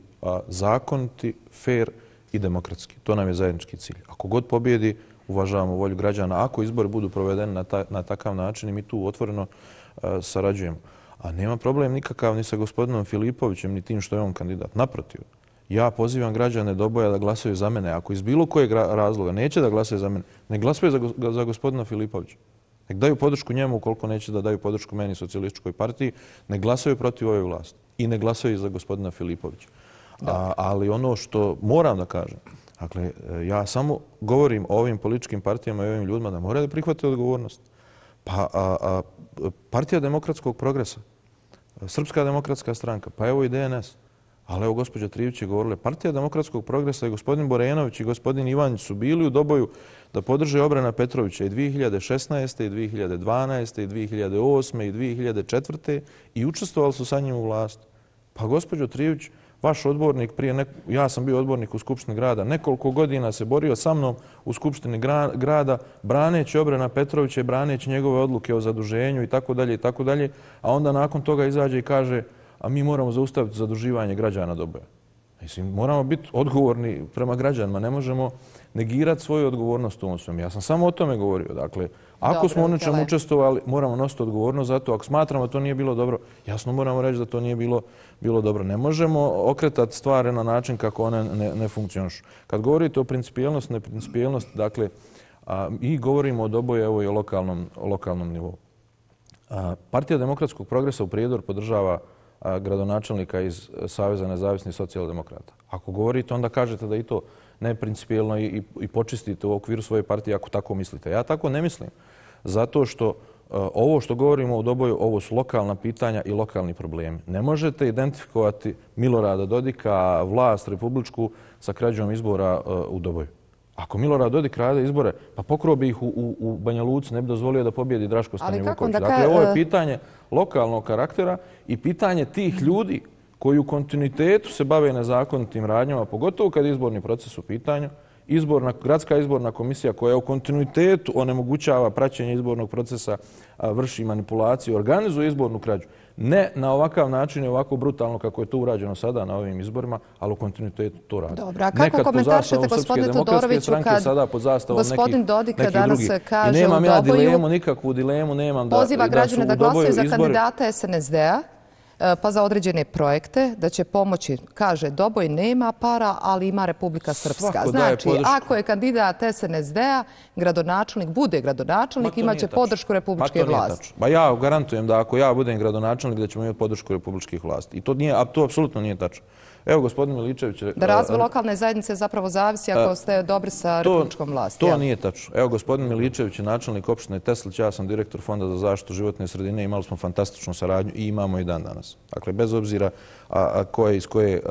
zakoniti, fair i demokratski. To nam je zajednički cilj. Ako god pobjedi, uvažavamo volju građana. Ako izbori budu provedeni na, ta, na takav način i mi tu otvoreno uh, sarađujemo. A nema problem nikakav ni sa gospodinom Filipovićem, ni tim što je on kandidat. Naprotiv, ja pozivam građane Doboja da glasaju za mene. Ako iz bilo kojeg razloga neće da glasaju za mene, ne glasaju za, go, za gospodina Filipovića. Nek daju podršku njemu ukoliko neće da daju podršku meni socijalističkoj partiji. Ne glasaju protiv ove vlasti i ne glasaju za gospodina Filipovića. A, ali ono što moram da kažem, dakle, ja samo govorim o ovim političkim partijama i ovim ljudima da moraju da prihvate odgovornost. Pa a, a, Partija demokratskog progresa, Srpska demokratska stranka, pa evo i D N S, ali evo gospođa Trivić je govorila, Partija demokratskog progresa i gospodin Borenović i gospodin Ivanić su bili u Doboju da podrže Obrana Petrovića i dvije hiljade šesnaeste. i dvije hiljade dvanaeste. i dvije hiljade osme. i dvije hiljade četvrte. i učestvovali su sa njim u vlasti. Pa gospođo Trivić, vaš odbornik, prije nek... ja sam bio odbornik u Skupštini grada, nekoliko godina se borio sa mnom u Skupštini grada, braneći Obrana Petrovića i braneći njegove odluke o zaduženju i tako dalje i tako dalje, a onda nakon toga izađe i kaže, a mi moramo zaustaviti zaduživanje građana Doboja. Mislim, moramo biti odgovorni prema građanima, ne možemo negirati svoju odgovornost u ovom svemu. Ja sam samo o tome govorio. Dakle, ako dobro, smo u nečemu učestvovali, moramo nositi odgovornost za to. Ako smatramo da to nije bilo dobro, jasno moramo reći da to nije bilo, bilo dobro. Ne možemo okretati stvari na način kako one ne, ne funkcionišu. Kad govorite o principijelnosti, neprincipijelnosti, dakle, a, i govorimo o Doboju, evo i o lokalnom, o lokalnom nivou. A, Partija demokratskog progresa u Prijedoru podržava a, gradonačelnika iz Saveza nezavisnih socijaldemokrata. Ako govorite, onda kažete da i to neprincipijelno i, i, i počistite u okviru svoje partije ako tako mislite. Ja tako ne mislim. Zato što uh, ovo što govorimo u Doboju, ovo su lokalna pitanja i lokalni problemi. Ne možete identifikovati Milorada Dodika, vlast republičku, sa krađom izbora uh, u Doboju. Ako Milorad Dodik rade izbore, pa pokro bi ih u, u, u Banja Luci, ne bi dozvolio da pobjedi Draško Stanivuković. Dakle, ovo je pitanje lokalnog karaktera i pitanje tih ljudi koji u kontinuitetu se bave nezakonitim radnjama, pogotovo kad je izborni proces u pitanju, izborna, gradska izborna komisija koja u kontinuitetu onemogućava praćenje izbornog procesa, vrši manipulaciju, organizuje izbornu krađu. Ne na ovakav način i ovako brutalno kako je to urađeno sada na ovim izborima, ali u kontinuitetu to radi. Dobro, a kako komentaršete, gospodine Todoroviću, kad gospodin Dodik danas kaže u Doboju, nemam ja dilemu, nikakvu dilemu nemam da poziva građane da glasaju za kandidata S N S D-a, pa za određene projekte, da će pomoći, kaže, Doboj nema para, ali ima Republika Srpska. Znači, ako je kandidat S N S D-a, gradonačelnik, bude gradonačelnik, imaće podršku republičke vlasti. Pa ja garantujem da ako ja budem gradonačelnik, da ćemo imati podršku republičkih vlasti. I to, nije, to apsolutno nije tačno. Evo, gospodin Miličević... Da razvoj lokalne zajednice zapravo zavisi ako ste dobri sa republičkom vlasti. To nije tačno. Evo, gospodin Miličević je načelnik opštine Teslić, ja sam direktor Fonda za zaštitu životne sredine, imali smo fantastičnu saradnju i imamo i dan danas. Dakle, bez obzira koje iz koje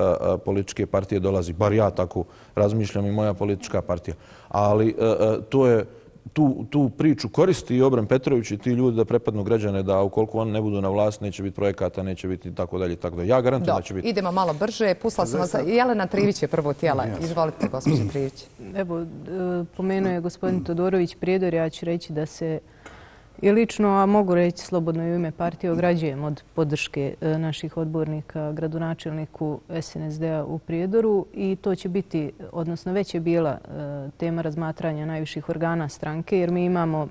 političke partije dolazi, bar ja tako razmišljam i moja politička partija. Ali to je... Tu, tu priču koristi i Obren Petrović i ti ljudi da prepadnu građane da ukoliko oni ne budu na vlast neće biti projekata, neće biti tako dalje. Tako da ja garantujem da će biti. Idemo malo brže. Pustila sam vas. Jelena Trivić je prvo tijela. Izvolite, gospođo Trivić. Evo, pomenuo je gospodin Todorović Prijedor. Ja ću reći da se i lično, a mogu reći slobodno i u ime partije, ograđujem od podrške naših odbornika gradonačelniku S N S D-a u Prijedoru i to će biti, odnosno već je bila tema razmatranja najviših organa stranke jer mi imamo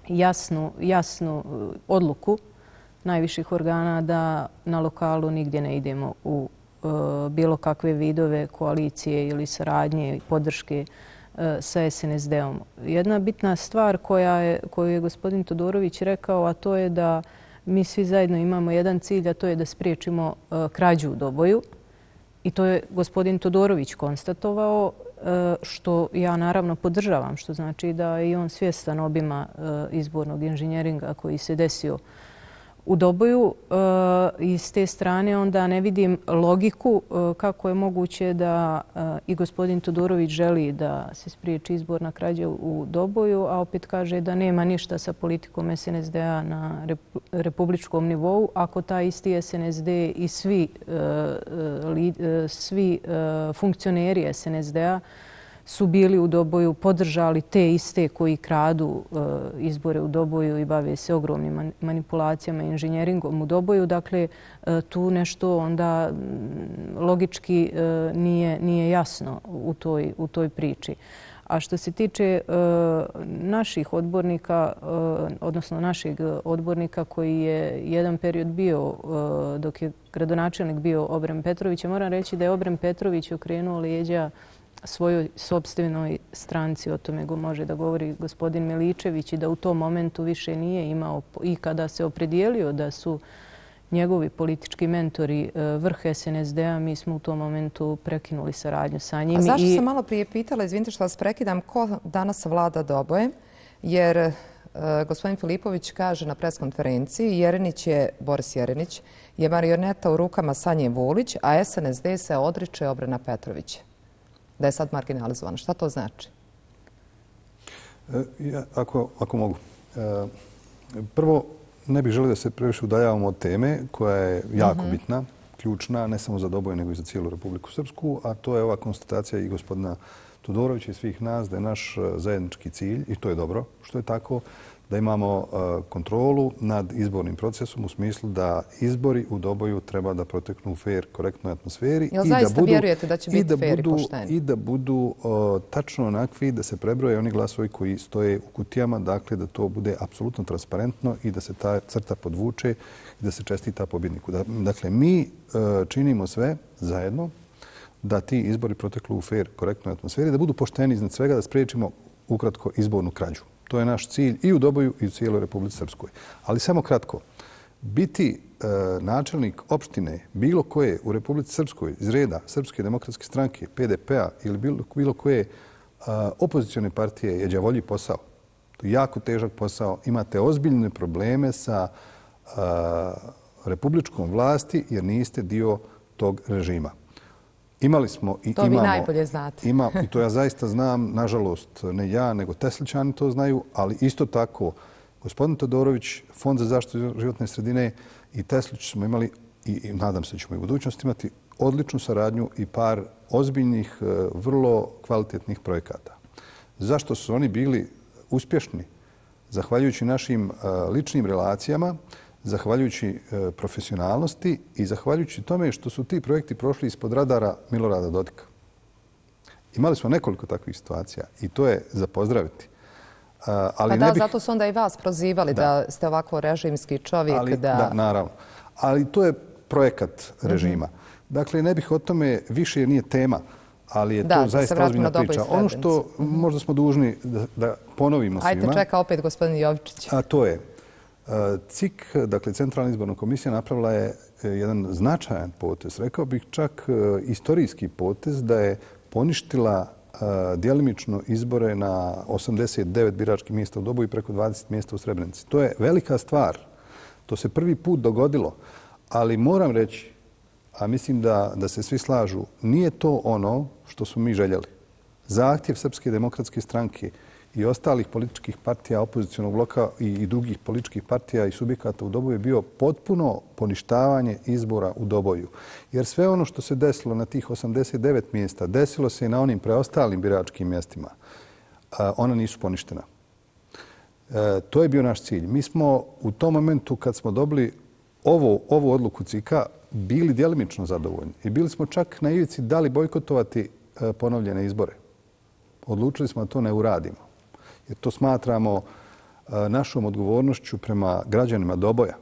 jasnu, jasnu odluku najviših organa da na lokalu nigdje ne idemo u bilo kakve vidove koalicije ili saradnje i podrške sa S N S D-om. Jedna bitna stvar koja je, koju je gospodin Todorović rekao, a to je da mi svi zajedno imamo jedan cilj, a to je da spriječimo krađu u Doboju. I to je gospodin Todorović konstatovao, što ja naravno podržavam, što znači da je i on svjestan obima izbornog inženjeringa koji se desio u Doboju. I s te strane onda ne vidim logiku kako je moguće da i gospodin Todorović želi da se spriječi izborna krađa u Doboju, a opet kaže da nema ništa sa politikom S N S D-a na republičkom nivou, ako taj isti S N S D i svi, svi funkcioneri S N S D-a su bili u Doboju, podržali te iste koji kradu izbore u Doboju i bave se ogromnim manipulacijama i inženjeringom u Doboju. Dakle, tu nešto onda logički nije, nije jasno u toj, u toj priči. A što se tiče naših odbornika, odnosno našeg odbornika koji je jedan period bio, dok je gradonačelnik bio Obren Petrović, moram reći da je Obren Petrović okrenuo leđa svojoj sopstvenoj stranci, o tome može da govori gospodin Miličević, i da u tom momentu više nije imao, i kada se opredijelio da su njegovi politički mentori vrh S N S D-a, mi smo u tom momentu prekinuli saradnju sa njim. A zašto sam malo prije pitala, izvinite što vas prekidam, ko danas vlada Dobojem? Jer gospodin Filipović kaže na preskonferenciji, Jerenić je, Boris Jerenić, je marioneta u rukama Sanje Vulić, a S N S D se odriče Obrena Petrovića. Da je sad marginalizovano. Šta to znači? Ja, ako, ako mogu. E, prvo, ne bih želio da se previše udaljavamo od teme koja je jako mm-hmm. bitna, ključna, ne samo za Doboj, nego i za cijelu Republiku Srpsku, a to je ova konstatacija i gospodina Todorovića i svih nas da je naš zajednički cilj, i to je dobro što je tako, da imamo kontrolu nad izbornim procesom u smislu da izbori u Doboju treba da proteknu u fair, korektnoj atmosferi. Jel zaista vjerujete da će biti fair i pošteni? I da budu tačno onakvi, da se prebroje oni glasovi koji stoje u kutijama, dakle da to bude apsolutno transparentno i da se ta crta podvuče i da se čestita pobjedniku. Dakle, mi činimo sve zajedno da ti izbori proteknu u fair, korektnoj atmosferi, da budu pošteni iznad svega, da spriječimo ukratko izbornu krađu. To je naš cilj i u Doboju i u cijeloj Republici Srpskoj. Ali samo kratko, biti e, načelnik opštine bilo koje u Republici Srpskoj iz reda Srpske demokratske stranke, P D P-a ili bilo, bilo koje a, opozicione partije je đavolji posao. To je jako težak posao. Imate ozbiljne probleme sa a, republičkom vlasti jer niste dio tog režima. Imali smo i to imamo... To vi najbolje znate. Ima, I to ja zaista znam, nažalost, ne ja, nego Teslićani to znaju, ali isto tako gospodin Todorović, Fond za zaštitu životne sredine i Teslić smo imali, i, i nadam se da ćemo i u budućnosti imati, odličnu saradnju i par ozbiljnih, vrlo kvalitetnih projekata. Zašto su oni bili uspješni? Zahvaljujući našim ličnim relacijama, zahvaljujući profesionalnosti i zahvaljujući tome što su ti projekti prošli ispod radara Milorada Dodika. Imali smo nekoliko takvih situacija i to je za pozdraviti. Ali pa da, ne bih... zato su onda i vas prozivali da, da ste ovako režimski čovjek. Ali, da... da, naravno. Ali to je projekat režima. Mm-hmm. Dakle, ne bih o tome, više nije tema, ali je da, to zaista ozbiljna priča. Ono što mm-hmm. možda smo dužni da, da ponovimo svima... Ajde, čeka opet gospodin Jovičić. A to je C I K, dakle Centralna izborna komisija, napravila je jedan značajan potez, rekao bih čak istorijski potez, da je poništila djelimično izbore na osamdeset devet biračkih mjesta u Doboju i preko dvadeset mjesta u Srebrenici. To je velika stvar. To se prvi put dogodilo. Ali moram reći, a mislim da, da se svi slažu, nije to ono što smo mi željeli. Zahtjev Srpske demokratske stranke i ostalih političkih partija, opozicionog bloka i, i drugih političkih partija i subjekata u Doboju je bio potpuno poništavanje izbora u Doboju. Jer sve ono što se desilo na tih osamdeset devet mjesta, desilo se i na onim preostalim biračkim mjestima. A, ona nisu poništena. E, to je bio naš cilj. Mi smo u tom momentu kad smo dobili ovo, ovu odluku C I K-a bili djelimično zadovoljni. I bili smo čak na ivici da li bojkotovati e, ponovljene izbore. Odlučili smo da to ne uradimo. Jer to smatramo našom odgovornošću prema građanima Doboja.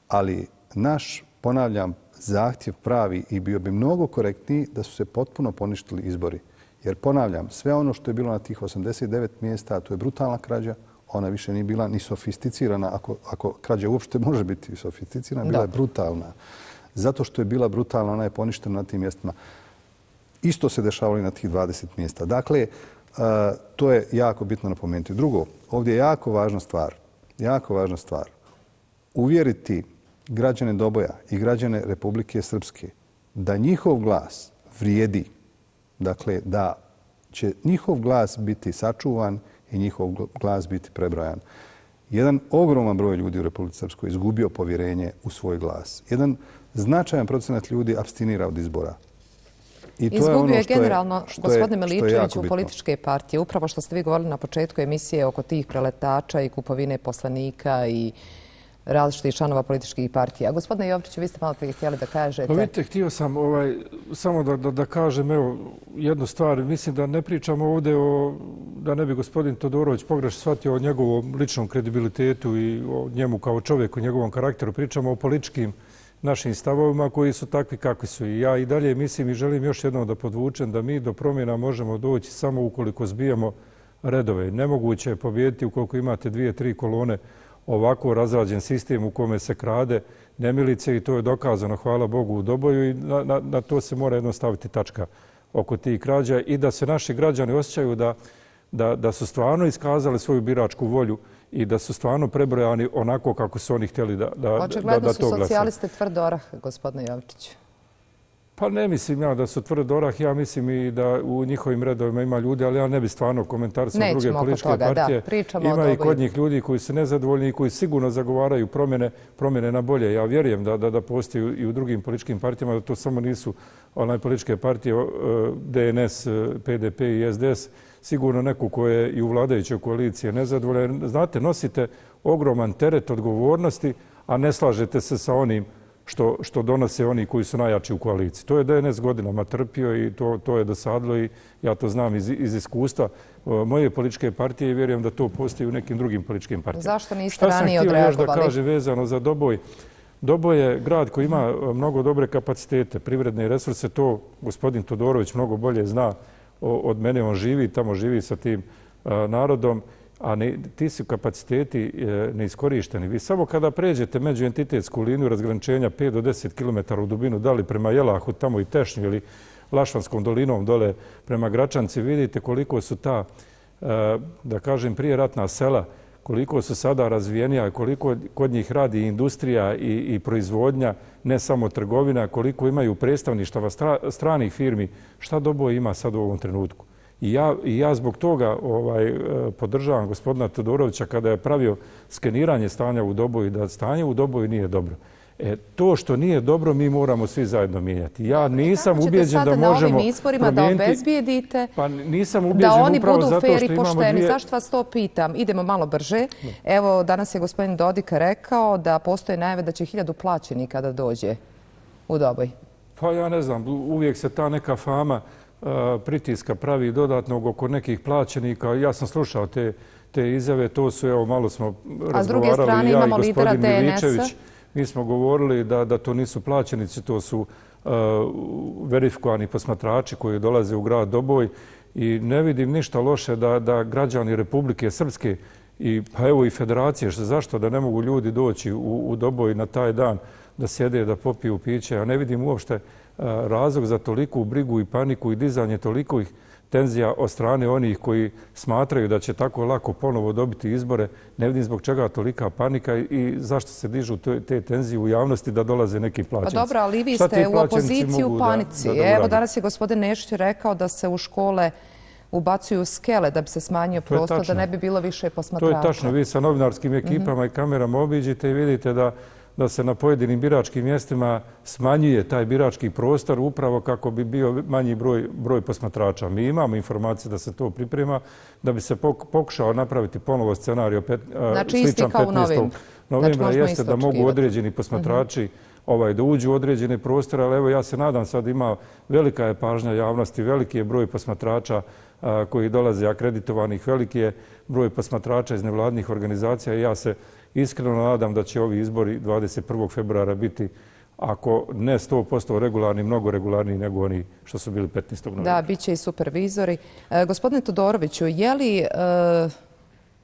Ali naš, ponavljam, zahtjev pravi i bio bi mnogo korektniji da su se potpuno poništili izbori. Jer ponavljam, sve ono što je bilo na tih osamdeset devet mjesta, to je brutalna krađa, ona više nije bila ni sofisticirana, ako, ako krađa uopšte može biti sofisticirana, bila je brutalna. Zato što je bila brutalna, ona je poništena na tim mjestima. Isto se dešavalo i na tih dvadeset mjesta. Dakle, Uh, to je jako bitno napomenuti. Drugo, ovdje je jako važna stvar, jako važna stvar, uvjeriti građane Doboja i građane Republike Srpske da njihov glas vrijedi, dakle da će njihov glas biti sačuvan i njihov glas biti prebrojan. Jedan ogroman broj ljudi u Republici Srpskoj izgubio povjerenje u svoj glas. Jedan značajan procenat ljudi apstinira od izbora. I to Izgubio je, ono je generalno, je, gospodine Miličević, u političke partije. Upravo što ste vi govorili na početku emisije oko tih preletača i kupovine poslanika i različitih članova političkih partija. Gospodine Jovičiću, vi ste malo prije htjeli da kažete... Pa vidite, htio sam ovaj, samo da, da, da kažem evo, jednu stvar. Mislim da ne pričamo ovdje o, da ne bi gospodin Todorović pogrešno shvatio o njegovom ličnom kredibilitetu i o njemu kao čovjeku, o njegovom karakteru. Pričamo o političkim našim stavovima koji su takvi kakvi su. I ja i dalje mislim i želim još jednom da podvučem da mi do promjena možemo doći samo ukoliko zbijamo redove. Nemoguće je pobijediti ukoliko imate dvije, tri kolone ovako razrađen sistem u kome se krade nemilice i to je dokazano, hvala Bogu, u Doboju i na, na, na to se mora jedno staviti tačka oko tih krađa i da se naši građani osjećaju da, da, da su stvarno iskazali svoju biračku volju i da su stvarno prebrojani onako kako su oni htjeli da, da, Očigledno da, da to glasa. Očigledno su socijaliste tvrd orah, gospodine Jovičić. Pa ne mislim ja da su tvrd orah, ja mislim i da u njihovim redovima ima ljudi, ali ja ne bi stvarno komentarisao druge političke toga, partije. Da, ima i kod njih ljudi koji su nezadovoljni i koji sigurno zagovaraju promjene, promjene na bolje. Ja vjerujem da, da, da postoji i u drugim političkim partijama, da to samo nisu onaj političke partije D N S, P D P i S D S, sigurno neko ko je i u vladajućoj koaliciji nezadovoljan. Znate, nosite ogroman teret odgovornosti, a ne slažete se sa onim što, što donose oni koji su najjači u koaliciji. To je D N S godinama trpio i to, to je dosadilo i ja to znam iz, iz iskustva moje političke partije i vjerujem da to postoji u nekim drugim političkim partijama. Zašto niste ranije odreagovali? Šta sam htio još da kaže vezano za Doboj? Doboj je grad koji ima mnogo dobre kapacitete, privredne resurse, to gospodin Todorović mnogo bolje zna od mene, on živi, tamo živi sa tim narodom, a ne, ti su kapaciteti neiskorišteni. Vi samo kada pređete međuentitetsku liniju razgraničenja pet do deset kilometara u dubinu, da li prema Jelahu, tamo i Tešnju ili Lašvanskom dolinom dole prema Gračanci, vidite koliko su ta, da kažem, prije ratna sela, koliko su sada razvijenija, koliko kod njih radi industrija i, i proizvodnja, ne samo trgovina, koliko imaju predstavništava stra, stranih firmi, šta Doboj ima sad u ovom trenutku. I ja, i ja zbog toga ovaj, podržavam gospodina Todorovića kada je pravio skeniranje stanja u Doboju, da stanje u Doboju nije dobro. E, to što nije dobro mi moramo svi zajedno mijenjati. Ja nisam ubijeđen da možemo promijeniti... Kako ćete sada na ovim izborima da obezbijedite pa nisam ubijeđen da oni upravo budu zato fer i što imamo pošteni? dvije... Zašto vas to pitam? Idemo malo brže. Evo, danas je gospodin Dodik rekao da postoje najave da će hiljadu plaćenika da dođe u Doboj. Pa ja ne znam, uvijek se ta neka fama uh, pritiska pravi dodatnog oko nekih plaćenika. Ja sam slušao te, te izjave, to su, evo, malo smo razgovarali. A s druge strane imamo lidera D N S-a. Mi smo govorili da, da to nisu plaćenici, to su uh, verifikovani posmatrači koji dolaze u grad Doboj i ne vidim ništa loše da, da građani Republike Srpske I pa evo i federacije, zašto da ne mogu ljudi doći u, u Doboj na taj dan da sjede, da popiju piće. Ja ne vidim uopšte razlog za toliku brigu i paniku i dizanje toliko ih tenzija od strane onih koji smatraju da će tako lako ponovo dobiti izbore. Ne vidim zbog čega tolika panika i zašto se dižu te tenzije u javnosti da dolaze neki plaćenici. Pa dobro, ali vi ste u opoziciji u panici. Evo, danas je gospodin Nešić rekao da se u škole ubacuju skele da bi se smanjio prostor, da ne bi bilo više posmatrača. To je tačno. Vi sa novinarskim ekipama i kamerama obiđite i vidite da da se na pojedinim biračkim mjestima smanjuje taj birački prostor upravo kako bi bio manji broj, broj posmatrača. Mi imamo informacije da se to priprema, da bi se pokušao napraviti ponovo scenarij znači, sličan petnaestog novembra, znači, jeste da mogu određeni posmatrači uh-huh. ovaj, da uđu u određene prostore, ali evo ja se nadam sad ima velika je pažnja javnosti, veliki je broj posmatrača a, koji dolaze akreditovanih, veliki je broj posmatrača iz nevladnih organizacija i ja se iskreno nadam da će ovi izbori dvadeset prvog februara biti, ako ne sto posto regularni, mnogo regularniji nego oni što su bili petnaestog novembra. Da, bit će i supervizori. E, gospodine Todoroviću, je li e,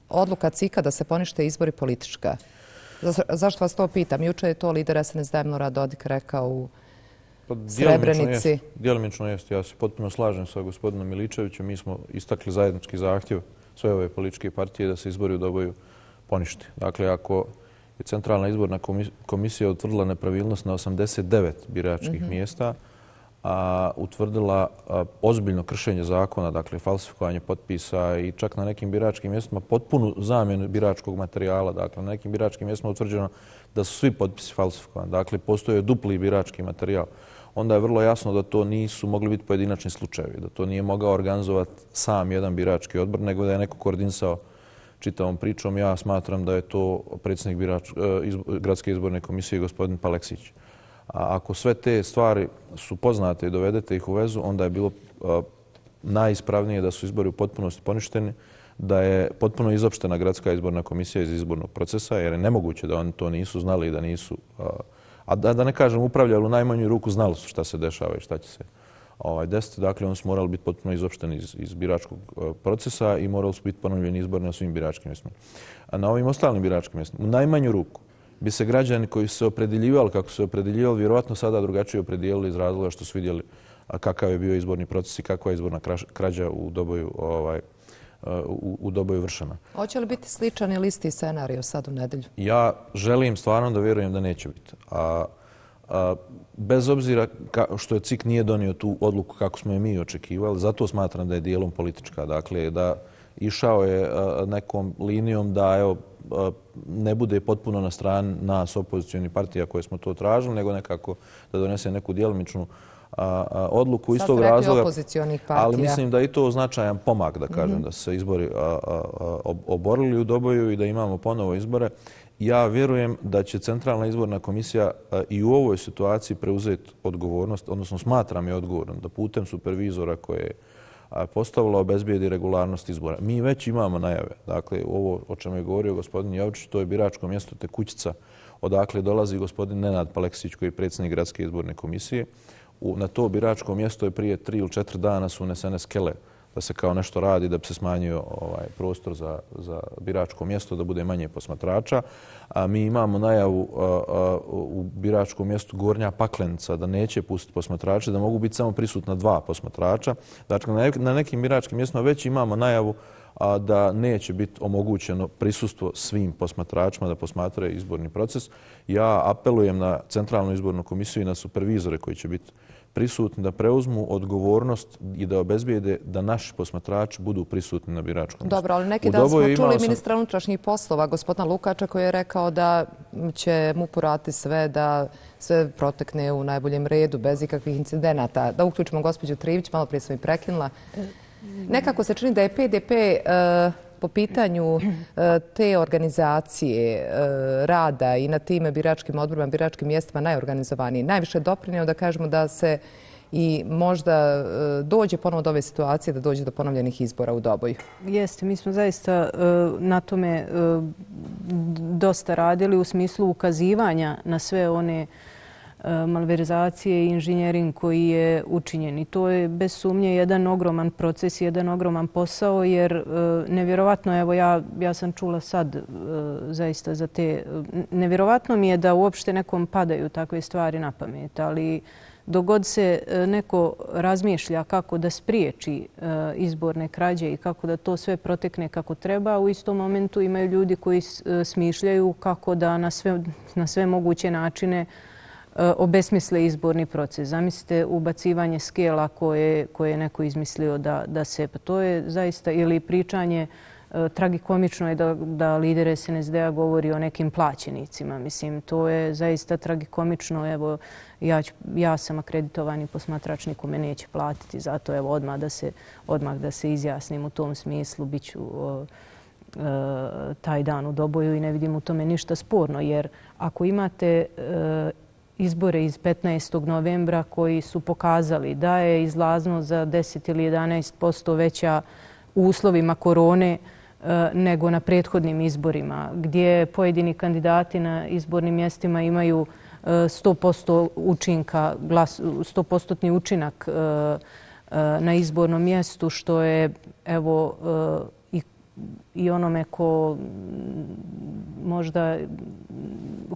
odluka C I K-a da se ponište izbori politička? Za, zašto vas to pitam? Juče je to lider S N S D Milorad Dodik rekao u pa, Srebrenici. Djelimično jest. Ja se potpuno slažem sa gospodinom Miličevićem. Mi smo istakli zajednički zahtjev sve ove političke partije da se izbori u Doboju poništi. Dakle, ako je Centralna izborna komisija utvrdila nepravilnost na osamdeset devet biračkih mm-hmm. mjesta, a utvrdila a, ozbiljno kršenje zakona, dakle falsifikovanje potpisa i čak na nekim biračkim mjestima potpunu zamjenu biračkog materijala. Dakle, na nekim biračkim mjestima utvrđeno da su svi potpisi falsifikovani. Dakle, postoje dupli birački materijal. Onda je vrlo jasno da to nisu mogli biti pojedinačni slučajevi, da to nije mogao organizovati sam jedan birački odbor, nego da je neko koordinisao čitavom pričom. Ja smatram da je to predsjednik birač, izbo, Gradske izborne komisije gospodin Paleksić. A ako sve te stvari su poznate i dovedete ih u vezu, onda je bilo a, najispravnije da su izbori u potpunosti poništeni, da je potpuno izopštena Gradska izborna komisija iz izbornog procesa, jer je nemoguće da oni to nisu znali i da nisu, a, a da, da ne kažem upravljali u najmanju ruku, znali su šta se dešava i šta će se ovaj, desiti. Dakle, oni su morali biti potpuno izopšteni iz, iz biračkog procesa i morali su biti ponovljeni izbori na svim biračkim mjestima. A na ovim ostalim biračkim mjestima, u najmanju ruku, bi se građani koji su se opredeljivali kako su se opredeljivali, vjerovatno sada drugačije opredijelili iz razloga što su vidjeli kakav je bio izborni proces i kakva je izborna krađa u Doboju, ovaj, u, u Doboju vršena. Hoće li biti sličan ili isti scenario sad u nedelju? Ja želim stvarno da vjerujem da neće biti. A, a, bez obzira ka, što je C I K nije donio tu odluku kako smo je mi očekivali, zato smatram da je dijelom politička. Dakle, da išao je a, nekom linijom da evo, ne bude potpuno na strani nas opozicionih partija koje smo to tražili, nego nekako da donese neku djelimičnu odluku iz tog razloga. Ali mislim da je i to značajan pomak, da kažem, mm-hmm. da se izbori a, a, a, oborili u Doboju i da imamo ponovo izbore. Ja vjerujem da će Centralna izborna komisija a, i u ovoj situaciji preuzeti odgovornost, odnosno smatram je odgovornom da putem supervizora koje je postavila obezbijedi regularnost izbora. Mi već imamo najave. Dakle, ovo o čemu je govorio gospodin Jovičić, to je biračko mjesto Tekućica, odakle dolazi gospodin Nenad Paleksić, koji je predsjednik Gradske izborne komisije. U, na to biračko mjesto je prije tri ili četiri dana su unesene skele da se kao nešto radi, da bi se smanjio ovaj, prostor za, za biračko mjesto, da bude manje posmatrača. A mi imamo najavu a, a, u biračkom mjestu Gornja Paklenica da neće pustiti posmatrače, da mogu biti samo prisutna dva posmatrača. Dakle, na, na nekim biračkim mjestima već imamo najavu a, da neće biti omogućeno prisustvo svim posmatračima da posmatraju izborni proces. Ja apelujem na Centralnu izbornu komisiju i na supervizore koji će biti prisutni da preuzmu odgovornost i da obezbijede da naši posmatrači budu prisutni na biračkom mjestu. Dobro, ali neki dan smo čuli sam... ministra unutrašnjih poslova, gospodina Lukača, koji je rekao da će mu porati sve, da sve protekne u najboljem redu, bez ikakvih incidenata. Da uključimo gospođu Trivić, malo prije sam i prekinula. Nekako se čini da je P D P uh, po pitanju uh, te organizacije uh, rada i na time biračkim odborima, biračkim mjestima najorganizovaniji. Najviše doprinio da kažemo da se i možda uh, dođe ponovo do ove situacije, da dođe do ponovljenih izbora u Doboju. Jeste, mi smo zaista uh, na tome uh, dosta radili u smislu ukazivanja na sve one malverzacije i inženjering koji je učinjen. I to je bez sumnje jedan ogroman proces, jedan ogroman posao, jer nevjerovatno, evo ja, ja sam čula sad zaista za te, nevjerovatno mi je da uopšte nekom padaju takve stvari na pamet, ali dok god se neko razmišlja kako da spriječi izborne krađe i kako da to sve protekne kako treba, u istom momentu imaju ljudi koji smišljaju kako da na sve, na sve moguće načine obesmisle izborni proces. Zamislite ubacivanje skela koje, koje je neko izmislio da, da se... Pa to je zaista... Ili pričanje, tragikomično je da, da lider S N S D-a govori o nekim plaćenicima. Mislim, to je zaista tragikomično. Evo, ja, ću, ja sam akreditovani posmatrač, niko me neće platiti. Zato evo, odmah da se, odmah da se izjasnim u tom smislu. Biću o, e, taj dan u Doboju i ne vidim u tome ništa sporno. Jer ako imate e, izbore iz petnaestog novembra koji su pokazali da je izlaznost za deset ili jedanaest posto veća u uslovima korone nego na prethodnim izborima, gdje pojedini kandidati na izbornim mjestima imaju sto posto učinka, sto posto učinak na izbornom mjestu, što je evo i, i onome ko možda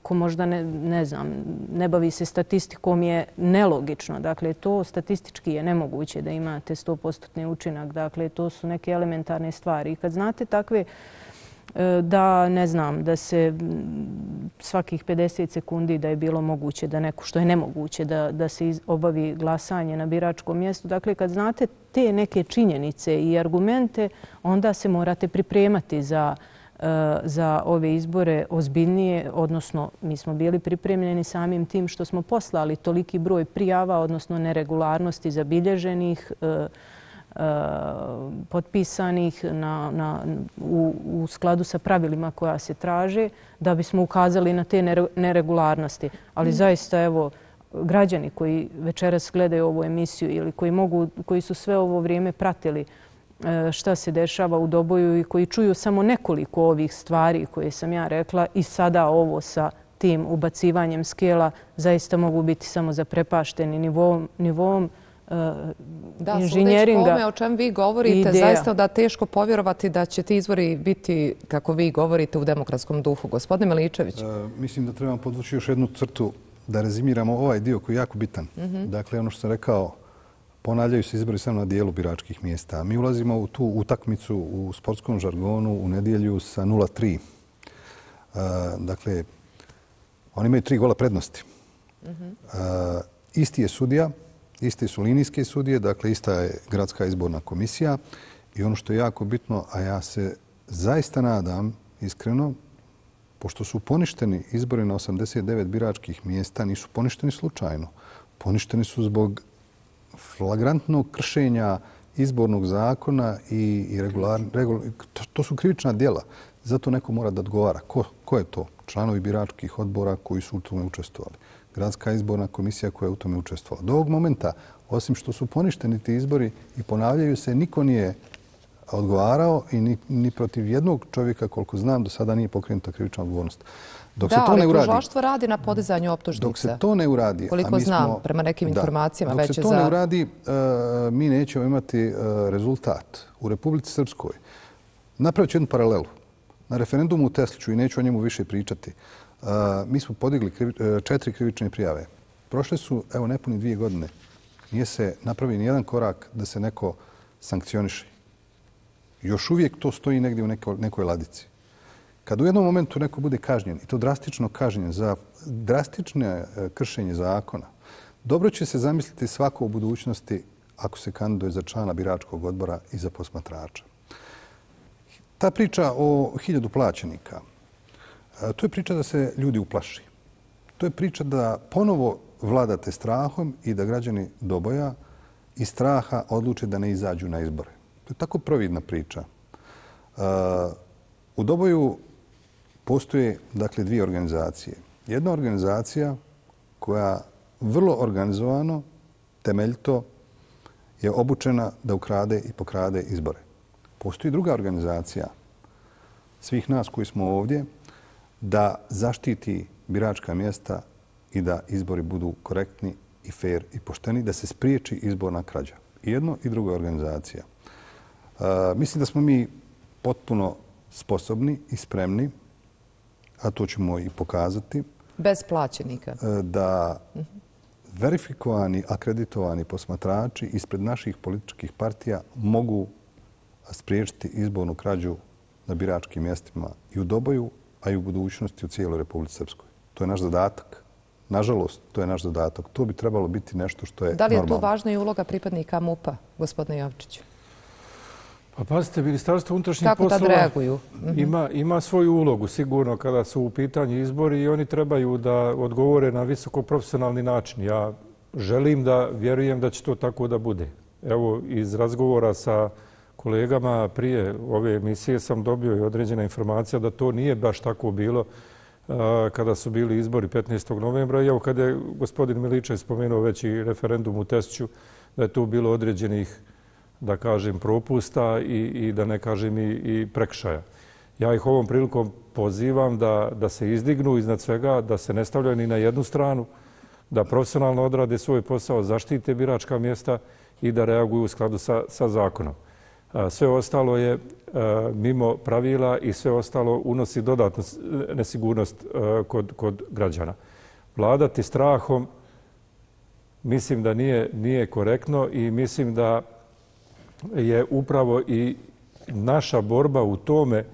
ko možda ne, ne znam, ne bavi se statistikom je nelogično. Dakle, to statistički je nemoguće da imate sto posto učinak. Dakle, to su neke elementarne stvari. I kad znate takve da, ne znam, da se svakih pedeset sekundi da je bilo moguće da neko, što je nemoguće, da, da se obavi glasanje na biračkom mjestu. Dakle, kad znate te neke činjenice i argumente, onda se morate pripremati za za ove izbore ozbiljnije, odnosno mi smo bili pripremljeni samim tim što smo poslali toliki broj prijava, odnosno neregularnosti zabilježenih, potpisanih na, na, u, u skladu sa pravilima koja se traže, da bismo ukazali na te neregularnosti. Ali mm. zaista, evo, građani koji večeras gledaju ovu emisiju ili koji, mogu, koji su sve ovo vrijeme pratili šta se dešava u Doboju i koji čuju samo nekoliko ovih stvari koje sam ja rekla i sada ovo sa tim ubacivanjem skela, zaista mogu biti samo zaprepašteni nivom, nivom uh, da, inženjeringa. Da, sudeći o čem vi govorite, ideja. Zaista da teško povjerovati da će ti izbori biti, kako vi govorite, u demokratskom duhu. Gospodine Miličević. E, mislim da trebamo podvući još jednu crtu da rezimiramo ovaj dio koji je jako bitan. Mm-hmm. Dakle, ono što sam rekao, ponavljaju se izbori samo na dijelu biračkih mjesta. Mi ulazimo u tu utakmicu u sportskom žargonu u nedjelju sa nula tri. Uh, dakle, oni imaju tri gola prednosti. Mm-hmm. Uh, isti je sudija, iste su linijske sudije, dakle ista je gradska izborna komisija i ono što je jako bitno, a ja se zaista nadam, iskreno, pošto su poništeni izbori na osamdeset devet biračkih mjesta, nisu poništeni slučajno. Poništeni su zbog flagrantnog kršenja izbornog zakona i, i regular, regul, to, to su krivična djela. Zato neko mora da odgovara. Ko, ko je to? Članovi biračkih odbora koji su u tome učestvovali. Gradska izborna komisija koja je u tome učestvovala. Do ovog momenta, osim što su poništeni ti izbori i ponavljaju se, niko nije odgovarao i ni, ni protiv jednog čovjeka, koliko znam, do sada nije pokrenuta krivična odgovornost. Dok da, se to ali ne uradi, tužilaštvo radi na podizanju optužnica. Dok se to ne uradi... Koliko a mi znam, smo, prema nekim informacijama da, već je za... Dok se to ne uradi, uh, mi nećemo imati uh, rezultat. U Republici Srpskoj napravit ću jednu paralelu. Na referendumu u Tesliću, i neću o njemu više pričati, uh, mi smo podigli krivi, uh, četiri krivične prijave. Prošle su, evo, nepuni dvije godine. Nije se napravi ni jedan korak da se neko sankcioniše. Još uvijek to stoji negdje u nekoj, nekoj ladici. Kad u jednom momentu neko bude kažnjen, i to drastično kažnjen za drastične kršenje zakona, dobro će se zamisliti svako u budućnosti ako se kandiduje za člana biračkog odbora i za posmatrača. Ta priča o hiljadu plaćenika, to je priča da se ljudi uplaši. To je priča da ponovo vladate strahom i da građani Doboja iz straha odluče da ne izađu na izbore. To je tako providna priča. U Doboju postoje, dakle, dvije organizacije. Jedna organizacija koja vrlo organizovano, temeljito je obučena da ukrade i pokrade izbore. Postoji druga organizacija svih nas koji smo ovdje da zaštiti biračka mjesta i da izbori budu korektni i fair i pošteni, da se spriječi izborna krađa. I jedno i druga organizacija. Uh, mislim da smo mi potpuno sposobni i spremni, a to ćemo i pokazati. Bez plaćenika. Da verifikovani, akreditovani posmatrači ispred naših političkih partija mogu spriječiti izbornu krađu na biračkim mjestima i u Doboju, a i u budućnosti u cijeloj Republici Srpskoj. To je naš zadatak. Nažalost, to je naš zadatak. To bi trebalo biti nešto što je normalno. Da li je tu važna i uloga pripadnika MUP-a, gospodine Jovičiću? Pa pazite, Ministarstvo unutrašnjih poslova Kako tad reaguju? Ima, ima svoju ulogu sigurno kada su u pitanju izbori i oni trebaju da odgovore na visoko profesionalni način. Ja želim da vjerujem da će to tako da bude. Evo, iz razgovora sa kolegama prije ove emisije sam dobio i određena informacija da to nije baš tako bilo kada su bili izbori petnaestog novembra. I evo, kada je gospodin Miličević spomenuo već i referendum u Tesću, da je tu bilo određenih, da kažem, propusta i, i da ne kažem i, i prekršaja. Ja ih ovom prilikom pozivam da, da se izdignu iznad svega, da se ne stavljaju ni na jednu stranu, da profesionalno odrade svoj posao, zaštite biračka mjesta i da reaguju u skladu sa, sa zakonom. Sve ostalo je mimo pravila i sve ostalo unosi dodatnu nesigurnost kod, kod građana. Vladati strahom mislim da nije, nije korektno i mislim da je upravo i naša borba u tome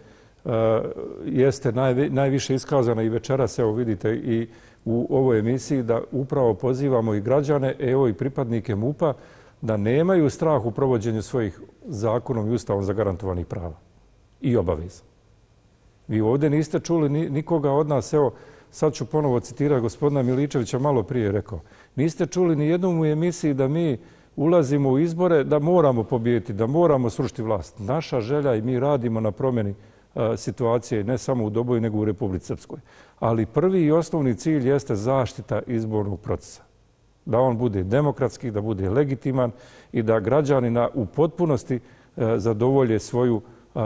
jeste najviše iskazana i večeras, evo vidite, i u ovoj emisiji, da upravo pozivamo i građane, evo i pripadnike MUP-a, da nemaju strah u provođenju svojih zakonom i ustavom zagarantovanih prava i obaveza. Vi ovdje niste čuli nikoga od nas, evo sad ću ponovo citirati gospodina Miličevića, malo prije rekao, niste čuli ni jednom u emisiji da mi ulazimo u izbore, da moramo pobijediti, da moramo srušiti vlast. Naša želja i mi radimo na promjeni situacije ne samo u Doboju nego u Republici Srpskoj. Ali prvi i osnovni cilj jeste zaštita izbornog procesa. Da on bude demokratski, da bude legitiman i da građani na, u potpunosti zadovolje svoju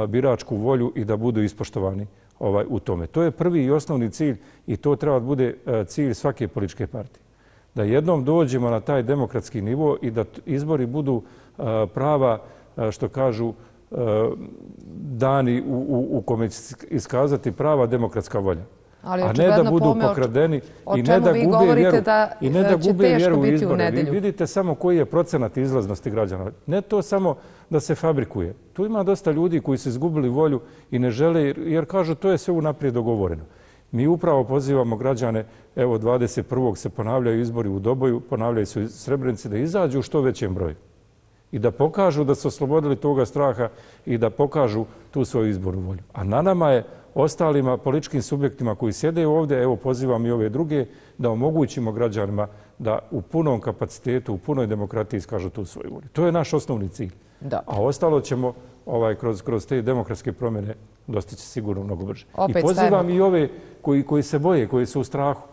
biračku volju i da budu ispoštovani ovaj, u tome. To je prvi i osnovni cilj i to treba da bude cilj svake političke partije. Da jednom dođemo na taj demokratski nivo i da izbori budu prava, što kažu, dani u, u, u kome će iskazati prava demokratska volja. Ali a ne da budu pokradeni i ne da gube vjeru, i ne da gube vjeru u izbore. Vi vidite samo koji je procenat izlaznosti građana. Ne to samo da se fabrikuje. Tu ima dosta ljudi koji su izgubili volju i ne žele, jer kažu to je sve unaprijed dogovoreno. Mi upravo pozivamo građane, evo dvadeset prvog se ponavljaju izbori u Doboju, ponavljaju se u Srebrenici, da izađu u što većem broju i da pokažu da su oslobodili toga straha i da pokažu tu svoju izbornu volju. A na nama je ostalima političkim subjektima koji sjede ovdje, evo pozivam i ove druge, da omogućimo građanima da u punom kapacitetu, u punoj demokratiji iskažu tu svoju volju. To je naš osnovni cilj. Da. A ostalo ćemo ovaj, kroz, kroz te demokratske promjene dostići sigurno mnogo brže. Opet I pozivam stavimo. i ove koji, koji se boje, koji su u strahu.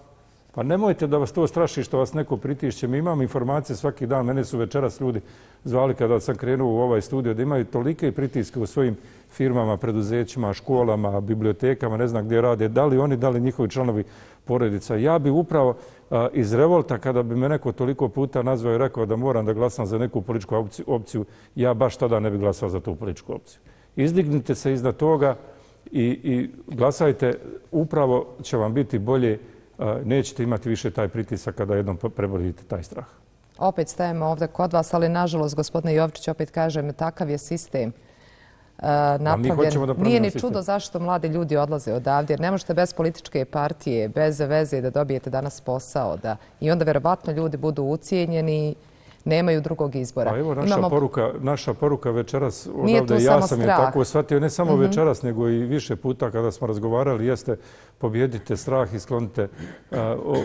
Pa nemojte da vas to straši što vas neko pritišće. Mi imamo informacije svaki dan. Mene su večeras ljudi zvali kada sam krenuo u ovaj studio da imaju tolike pritiske u svojim firmama, preduzećima, školama, bibliotekama, ne znam gdje rade, da li oni, da li njihovi članovi porodica. Ja bi upravo a, iz revolta, kada bi me neko toliko puta nazvao i rekao da moram da glasam za neku političku opciju, opciju, ja baš tada ne bi glasao za tu političku opciju. Izdignite se iznad toga i, i glasajte, upravo će vam biti bolje, a, nećete imati više taj pritisak kada jednom prebrodite taj strah. Opet stajemo ovdje kod vas, ali nažalost, gospodine Jovičić, opet kažem, takav je sistem uh, napravljen. Nije ni čudo zašto mladi ljudi odlaze odavdje, jer ne možete bez političke partije, bez veze da dobijete danas posao. Da, i onda verovatno ljudi budu ucijenjeni, nemaju drugog izbora. Pa evo naša, Imamo... poruka, naša poruka večeras odavde, ja sam je tako shvatio, ne samo mm-hmm. večeras, nego i više puta kada smo razgovarali, jeste pobjedite strah i sklonite, uh,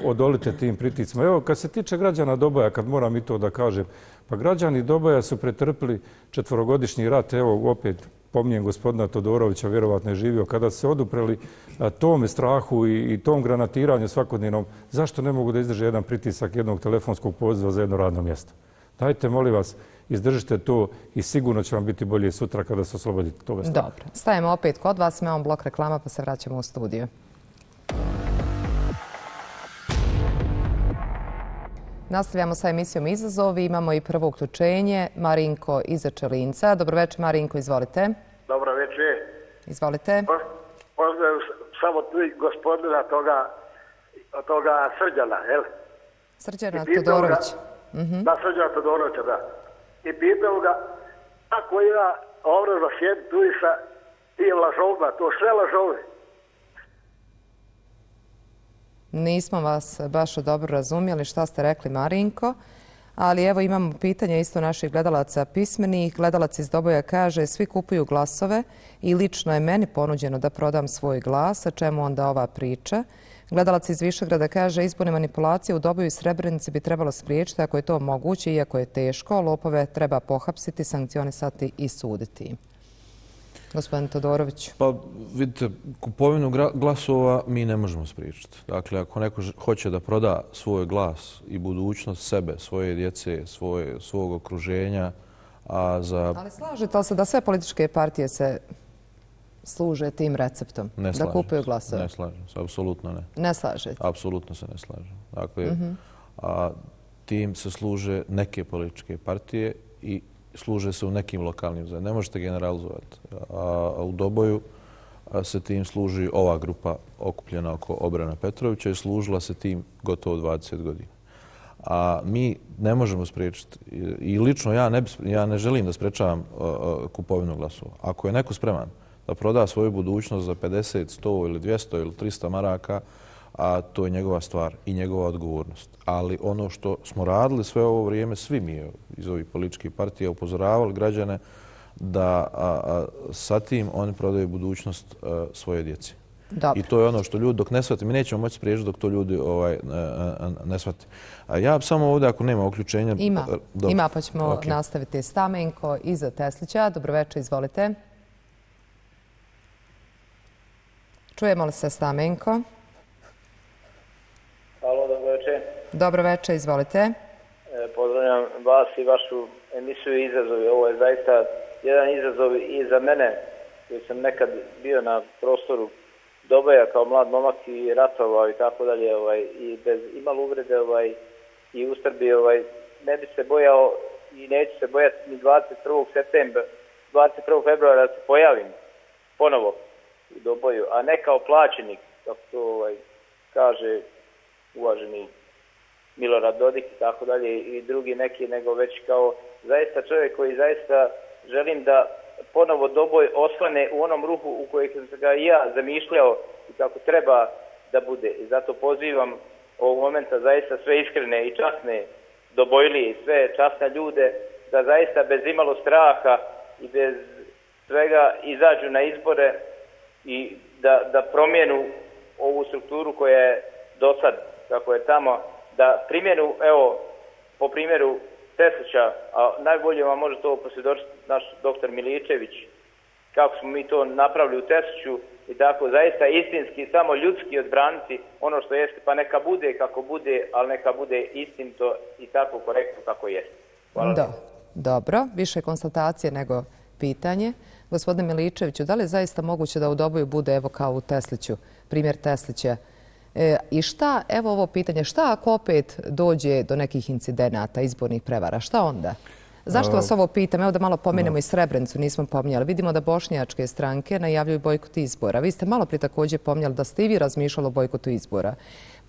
odolite tim priticima. Evo, kad se tiče građana Doboja, kad moram i to da kažem, pa građani Doboja su pretrpili četvorogodišnji rat, evo opet pominjem gospodina Todorovića, vjerovatno je živio, kada se odupreli uh, tome strahu i, i tom granatiranju svakodnevnom, zašto ne mogu da izdrže jedan pritisak jednog telefonskog poziva za jedno radno mjesto? Dajte, molim vas, izdržite to i sigurno će vam biti bolje sutra kada se oslobodite toga straha. Dobro. Stajemo opet kod vas, imamo blok reklama pa se vraćamo u studiju. Nastavljamo sa emisijom Izazovi. Imamo i prvo uključenje. Marinko iz Čelinca. Dobro večer, Marinko, izvolite. Dobro večer. Izvolite. Pozdrav samo tu gospodina toga, toga Srđana, jel? Srđana Todorović. Da, Srđana Todorovića, da. I pitao ga kako ima ovdje za sjedi tu i sa tim lažovima, to sve lažove. Nismo vas baš dobro razumjeli šta ste rekli, Marinko, ali evo imamo pitanje isto naših gledalaca pismenih. Gledalac iz Doboja kaže: svi kupuju glasove i lično je meni ponuđeno da prodam svoj glas, a čemu onda ova priča? Gledalac iz Višegrada kaže: izborne manipulacije u Doboju i Srebrenici bi trebalo spriječiti ako je to moguće, iako je teško. Lopove treba pohapsiti, sankcionisati i suditi. Gospodin Todorović. Pa vidite, kupovinu glasova mi ne možemo spriječiti. Dakle, ako neko hoće da proda svoj glas i budućnost sebe, svoje djece, svoje, svog okruženja, a za... Ali slažete li se da sve političke partije se služe tim receptom? Ne da kupuju glasove? Ne slažem se, apsolutno ne. Ne slažete? Apsolutno se ne slažem. Dakle, mm-hmm. a, tim se služe neke političke partije i služe se u nekim lokalnim zajednicama. Ne možete generalizovati. A u Doboju se tim služi ova grupa okupljena oko Obrana Petrovića i služila se tim gotovo dvadeset godina. A mi ne možemo spriječiti. I lično ja ne, ja ne želim da sprečavam kupovinu glasova. Ako je neko spreman da proda svoju budućnost za pedeset, sto ili dvjesto ili tristo maraka, a to je njegova stvar i njegova odgovornost. Ali ono što smo radili sve ovo vrijeme, svi mi iz ovih političkih partija upozoravali građane da a, a, sa tim oni prodaju budućnost a, svoje djeci. Dobre. I to je ono što ljudi dok ne shvate, mi nećemo moći spriječiti dok to ljudi ovaj, ne shvate. A ja samo ovdje, ako nema uključenja... Ima, dobro. Ima pa ćemo okay. nastaviti. Stamenko iza Teslića. Dobroveče, izvolite. Čujemo li se, Stamenko? Halo, dobro večer. Dobro večer, izvolite. E, pozdravljam vas i vašu emisiju Izazovi. Ovo je zaista jedan izazov i za mene, koji sam nekad bio na prostoru Doboja kao mlad momak i ratovao i tako dalje, ovaj, i bez imalo uvrede ovaj, i ustrbi, ovaj, ne bi se bojao i neću se bojati ni dvadeset prvog septembra, dvadeset prvog februara da se pojavim ponovo u Doboju, a ne kao plaćenik, kako to ovaj, kaže uvaženi Milorad Dodik i tako dalje i drugi neki, nego već kao zaista čovjek koji zaista želim da ponovo Doboj osvane u onom ruhu u kojeg sam ga i ja zamišljao i kako treba da bude. I zato pozivam ovog momenta zaista sve iskrene i časne Dobojlije i sve časne ljude da zaista bez imalo straha i bez svega izađu na izbore i da, da promijenu ovu strukturu koja je do sad, kako je tamo, da primjenu, evo, po primjeru Teslića, a najbolje vam može to posvjedočiti naš doktor Miličević, kako smo mi to napravili u Tesliću i tako zaista istinski, samo ljudski odbraniti ono što jeste, pa neka bude kako bude, ali neka bude istinito i tako korektno kako jeste. Hvala. Do, dobro, više konstatacije nego pitanje. Gospodine Miličeviću, da li je zaista moguće da u Doboju bude, evo kao u Tesliću, primjer Teslića? E, I šta, evo ovo pitanje, šta ako opet dođe do nekih incidenata, izbornih prevara, šta onda? Zašto vas ovo pitam? Evo da malo pomenemo i Srebrenicu, nismo pominjali. Vidimo da bošnjačke stranke najavljuju bojkot izbora. Vi ste malo prije također pominjali da ste i vi razmišljali o bojkotu izbora.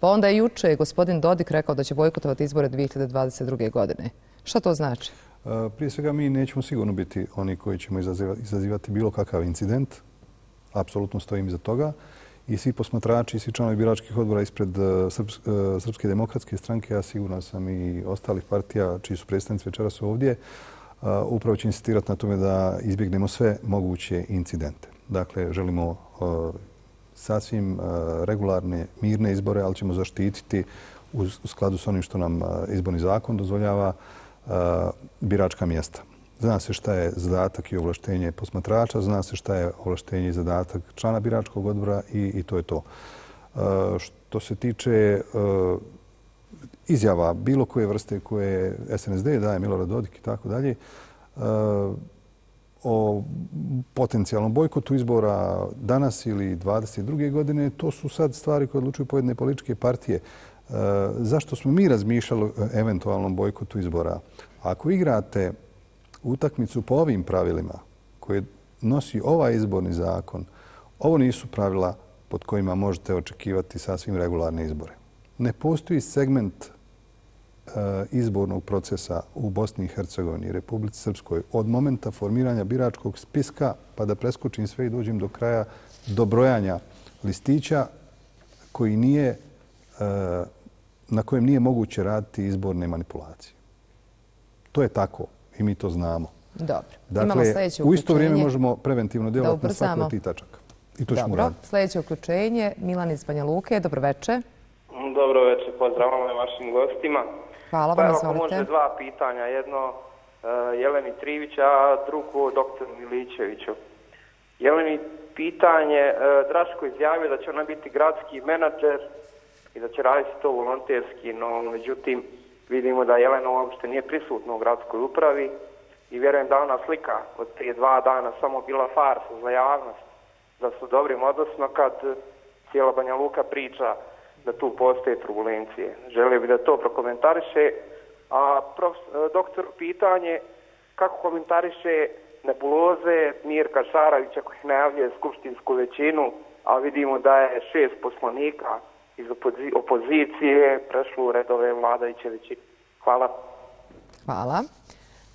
Pa onda je juče gospodin Dodik rekao da će bojkotovati izbore dvije hiljade dvadeset druge. godine. Šta to znači? Prije svega mi nećemo sigurno biti oni koji ćemo izazivati bilo kakav incident. Apsolutno stojim iza toga. I svi posmatrači i svi članovi biračkih odbora ispred Srpske demokratske stranke, a sigurno sam i ostalih partija čiji su predstavnici večeras ovdje, upravo će insistirati na tome da izbjegnemo sve moguće incidente. Dakle, želimo sasvim regularne, mirne izbore, ali ćemo zaštititi u skladu s onim što nam izborni zakon dozvoljava biračka mjesta. Zna se šta je zadatak i ovlaštenje posmatrača, zna se šta je ovlaštenje i zadatak člana biračkog odbora i, i to je to. E, što se tiče e, izjava bilo koje vrste koje S N S D daje, Milorad Dodik i tako dalje, o potencijalnom bojkotu izbora danas ili dvadeset druge godine, to su sad stvari koje odlučuju pojedine političke partije. Zašto smo mi razmišljali o eventualnom bojkotu izbora? Ako igrate utakmicu po ovim pravilima koje nosi ovaj izborni zakon, ovo nisu pravila pod kojima možete očekivati sasvim regularne izbore. Ne postoji segment izbornog procesa u Bosni i Hercegovini i Republici Srpskoj od momenta formiranja biračkog spiska pa da preskočim sve i dođem do kraja do brojanja listića koji nije, na kojem nije moguće raditi izborne manipulacije. To je tako i mi to znamo. Dobro. Dakle, u isto vrijeme možemo preventivno djelovati na svaku od tih tačaka. I to ćemo raditi. Sljedeće uključenje, Milan iz Banja Luke. Dobroveče. Dobro večer, pozdravom i vašim gostima. Hvala vam, izvolite. Pa evo, može dva pitanja. Jedno Jeleni Trivić, a drugo doktoru Miličeviću. Jeleni pitanje, Draško izjavio da će ona biti gradski menadžer i da će raditi to volonterski, no međutim vidimo da Jelena uopšte nije prisutna u gradskoj upravi i vjerujem da ona slika od prije dva dana samo bila farsa za javnost, da su dobrim odnosno kad cijela Banja Luka priča da tu postoje turbulencije. Želio bi da to prokomentariše. A prof, doktor pitanje, kako komentariše nebuloze Mirka Šarovića koji najavljuje skupštinsku većinu, a vidimo da je šest poslanika iz opozicije prešlo u redove vladajuće većine. Hvala. Hvala.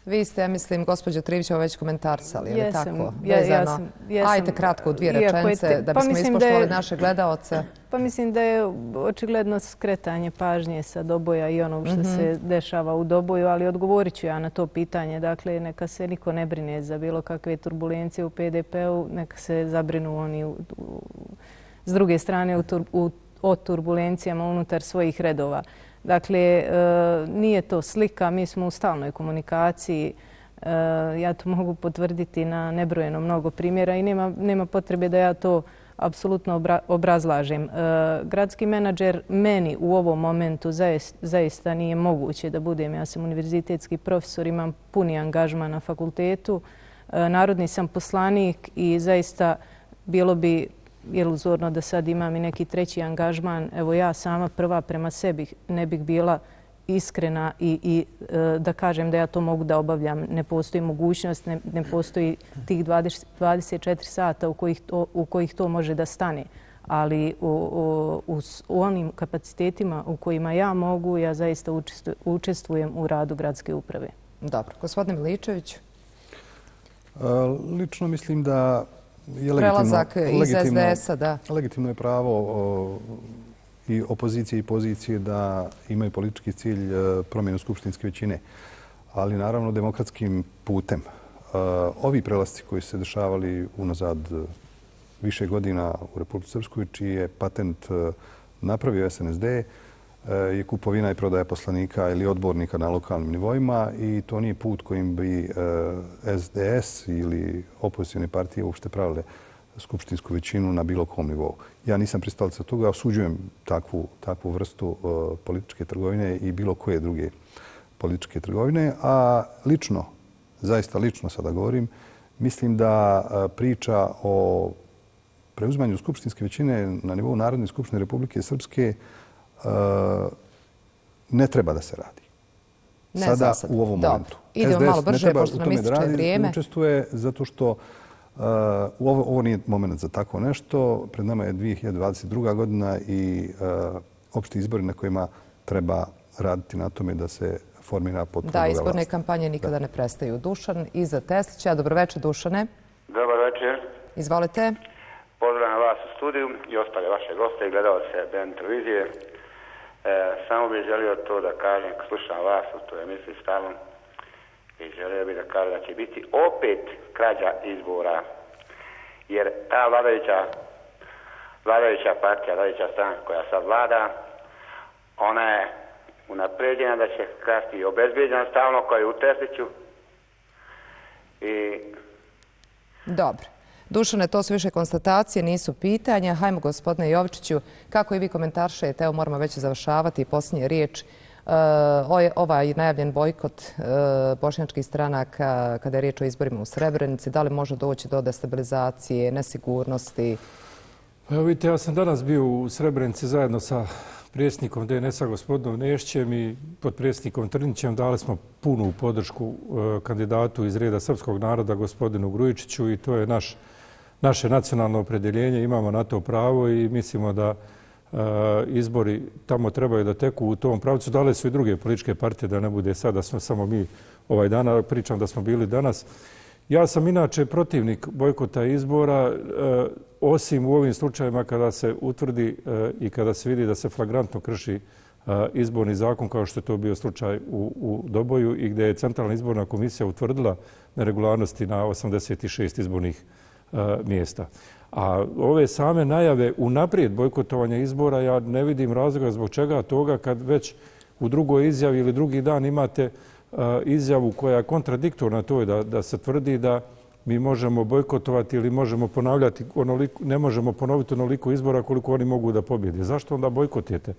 Vi ste, ja mislim, gospođo Trivićeva već komentarsali, je li tako? Jesam. Ajte kratko u dvije rečence da bismo ispoštovali naše gledaoce. Pa mislim da je očigledno skretanje pažnje sa Doboja i onog što se dešava u Doboju, ali odgovorit ću ja na to pitanje. Dakle, neka se niko ne brine za bilo kakve turbulencije u P D P-u, neka se zabrinu oni s druge strane o turbulencijama unutar svojih redova. Dakle, nije to slika, mi smo u stalnoj komunikaciji. Ja to mogu potvrditi na nebrojeno mnogo primjera i nema, nema potrebe da ja to apsolutno obrazlažem. Gradski menadžer meni u ovom momentu zaista nije moguće da budem. Ja sam univerzitetski profesor, imam puni angažman na fakultetu, narodni sam poslanik i zaista bilo bi iluzorno da sad imam i neki treći angažman. Evo ja sama prva prema sebi ne bih bila iskrena i, i da kažem da ja to mogu da obavljam. Ne postoji mogućnost, ne, ne postoji tih dvadeset, dvadeset četiri sata u kojih to, u kojih to može da stane. Ali u, u, u, u onim kapacitetima u kojima ja mogu, ja zaista učestvujem u radu gradske uprave. Dobro. Gospodine Miličević? Lično mislim da je prelazak iz S D S-a, da. Legitimno je pravo i opozicije i pozicije da imaju politički cilj promjenu skupštinske većine, ali naravno demokratskim putem. Ovi prelasci koji su se dešavali unazad više godina u Republici Srpskoj, čiji je patent napravio S N S D, je kupovina i prodaja poslanika ili odbornika na lokalnim nivoima i to nije put kojim bi S D S ili opozicijone partije uopšte pravile skupštinsku većinu na bilo kom nivou. Ja nisam pristalica toga, osuđujem takvu, takvu vrstu političke trgovine i bilo koje druge političke trgovine, a lično, zaista lično sada govorim, mislim da priča o preuzimanju skupštinske većine na nivou Narodne skupštine Republike Srpske ne treba da se radi. Ne sada sad. u ovom Dobro. momentu. Idemo malo brže, pošto nam ističe vrijeme. Ne učestvuje zato što uh, ovo, ovo nije moment za tako nešto. Pred nama je dvije hiljade dvadeset druga godina i uh, opšti izbori na kojima treba raditi na tome da se formira potpuno Da, izborne kampanje nikada da. ne prestaju. Dušan iza Teslića. Dobroveče, Dušane. Dobar večer. Izvolite. Pozdravljam vas u studiju i ostale vaše goste i gledalce B N televizije. E, samo bih želio to da kažem, slušam vas u toj emisiji stalno i želio bih da kažem da će biti opet krađa izbora, jer ta vladajuća, vladajuća partija, vladajuća stranka koja sad vlada, ona je unapređena da će krasti i obezbijeđena stalno koja je u Tesliću. I... Dobro. Dušane, to su više konstatacije, nisu pitanja. Hajmo, gospodine Jovičiću, kako i vi komentaršete, evo moramo već završavati posljednje riječ ovaj najavljen bojkot bošnjačkih stranaka kada je riječ o izborima u Srebrenici, da li može doći do destabilizacije, nesigurnosti? Evo vidite, ja sam danas bio u Srebrenici zajedno sa predsjednikom D N S-a gospodinom Nešćem i potpredsjednikom Trnićem. Dali smo punu podršku kandidatu iz reda srpskog naroda gospodinu Grujičiću i to je naš, naše nacionalno opredjeljenje. Imamo na to pravo i mislimo da izbori tamo trebaju da teku u tom pravcu. Dale su i druge političke partije, da ne bude sad da smo samo mi ovaj dana, pričam da smo bili danas. Ja sam inače protivnik bojkota izbora, osim u ovim slučajevima kada se utvrdi i kada se vidi da se flagrantno krši izborni zakon, kao što je to bio slučaj u, u Doboju i gdje je Centralna izborna komisija utvrdila neregularnosti na osamdeset šest izbornih mjesta. A ove same najave unaprijed bojkotovanja izbora, ja ne vidim razloga zbog čega toga kad već u drugoj izjavi ili drugi dan imate izjavu koja je kontradiktorna toj da, da se tvrdi da mi možemo bojkotovati ili možemo ponavljati onoliko, ne možemo ponoviti onoliko izbora koliko oni mogu da pobjede. Zašto onda bojkotujete?